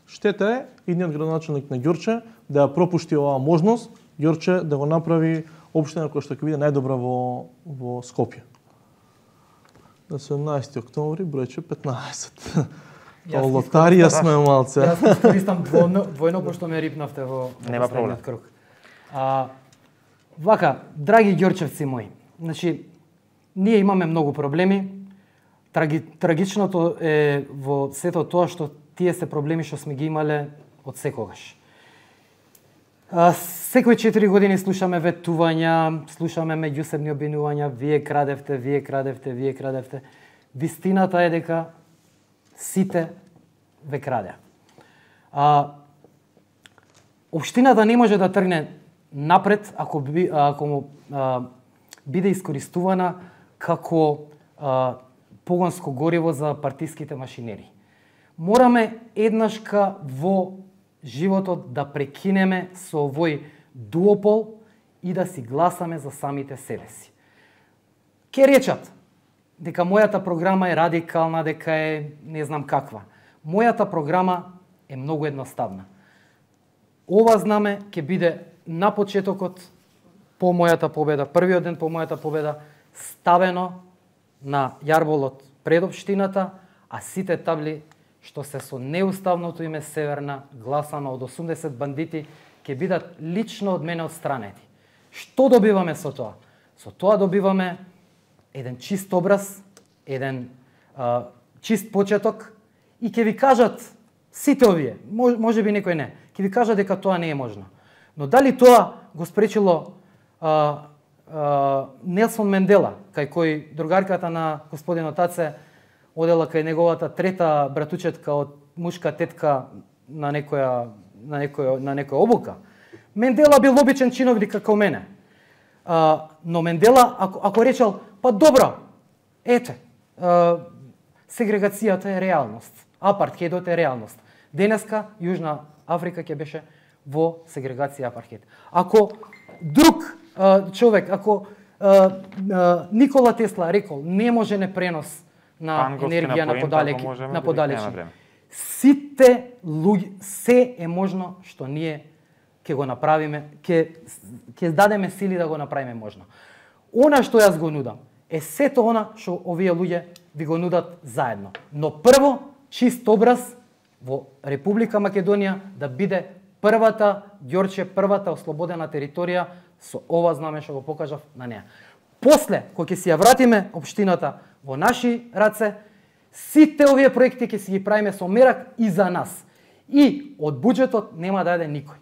Штета е идниот градоначалник на Ѓорче да ја пропушти оваа можност, Ѓорче да го направи општина која што ќе биде најдобра во во Скопје. На седумнаесети октомври бројче петнаесет. Тоа лотарија сме малце. Јас искористам двојно, двојно пошто ме рипнавте во нема проблем круг. А, вака, драги ѓорчевци мои, значи ние имаме многу проблеми. Траги, трагичното е во сето тоа што тие се проблеми што сме ги имале од секогаш. А, секој четири години слушаме ветувања, слушаме меѓусебни обвинувања, вие крадевте, вие крадевте, вие крадевте. Вистината е дека сите ве краде. А, општината не може да тргне напред ако, би, ако а, биде искористувана како а, погонско гориво за партиските машинери. Мораме еднашка во животот да прекинеме со овој дуопол и да си гласаме за самите себе си. Ке речат дека мојата програма е радикална, дека е не знам каква. Мојата програма е многу едноставна. Ова знаме ќе биде на почетокот по мојата победа, првиот ден по мојата победа, ставено на јарболот пред општината, а сите табли што се со неуставното име Северна, гласано од осумдесет бандити, ќе бидат лично од мене отстранети. Што добиваме со тоа? Со тоа добиваме еден чист образ, еден а, чист почеток и ќе ви кажат сите овие, мож, може би некој не, ќе ви кажат дека тоа не е можно. Но дали тоа го спречило а, а, Нелсон Мендела, кај кој другарката на господинот Таце одела кај неговата трета братучетка од мушка тетка на некоја на некоја на некоја обука. Мендела бил обичен чиновник како мене. А, но Мендела ако ако речел, па добро, ете, а, сегрегацијата е реалност, апартхедот е реалност. Денеска Јужна Африка ќе беше во сегрегација апартхед. Ако друг а, човек, ако а, а, Никола Тесла рекол не може не пренос на енергија на подалеки, на подалечни. Сите луѓе, се е можно што ние ќе го направиме, ќе ќе дадеме сили да го направиме можно. Она што јас го нудам е сето она што овие луѓе ви го нудат заедно. Но прво чист образ во Република Македонија да биде првата Ѓорче, првата ослободена територија со ова знаме што го покажав на неа. После, кога ќе си ја вратиме општината во наши раце, сите овие проекти ќе си ги правиме со мерак и за нас. И од буџетот нема да јаде никој.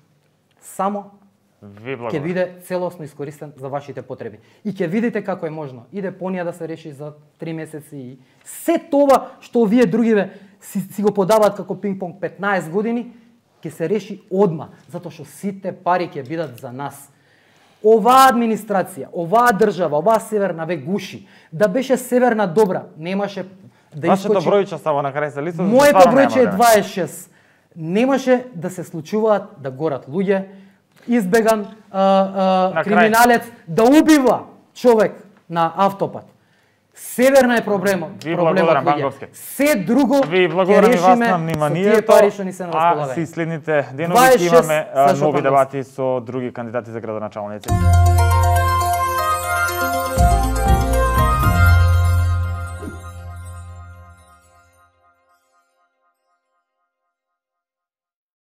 Само ќе биде целосно искористен за вашите потреби. И ќе видите како е можно. Иде понија да се реши за три месеци и се тоа што овие другиве си, си го подаваат како пинг-понг петнаесет години, ќе се реши одма, затоа што сите пари ќе бидат за нас. Оваа администрација, оваа држава, оваа северна ве гуши. Да беше северна добра, немаше да искочи. Вашето бројче става на крај за листот. Моето бројче е дваесет и шест. Немаше да се случуваат да горат луѓе, избеган а, а, криминалец да убива човек на автопат. Северна е проблемот, Ви проблемот луѓе. Се друго Ви ќе решиме на со вниманието, тие пари што ни се на а располагање. си следните денови ќе имаме нови дебати со други кандидати за градоначалници.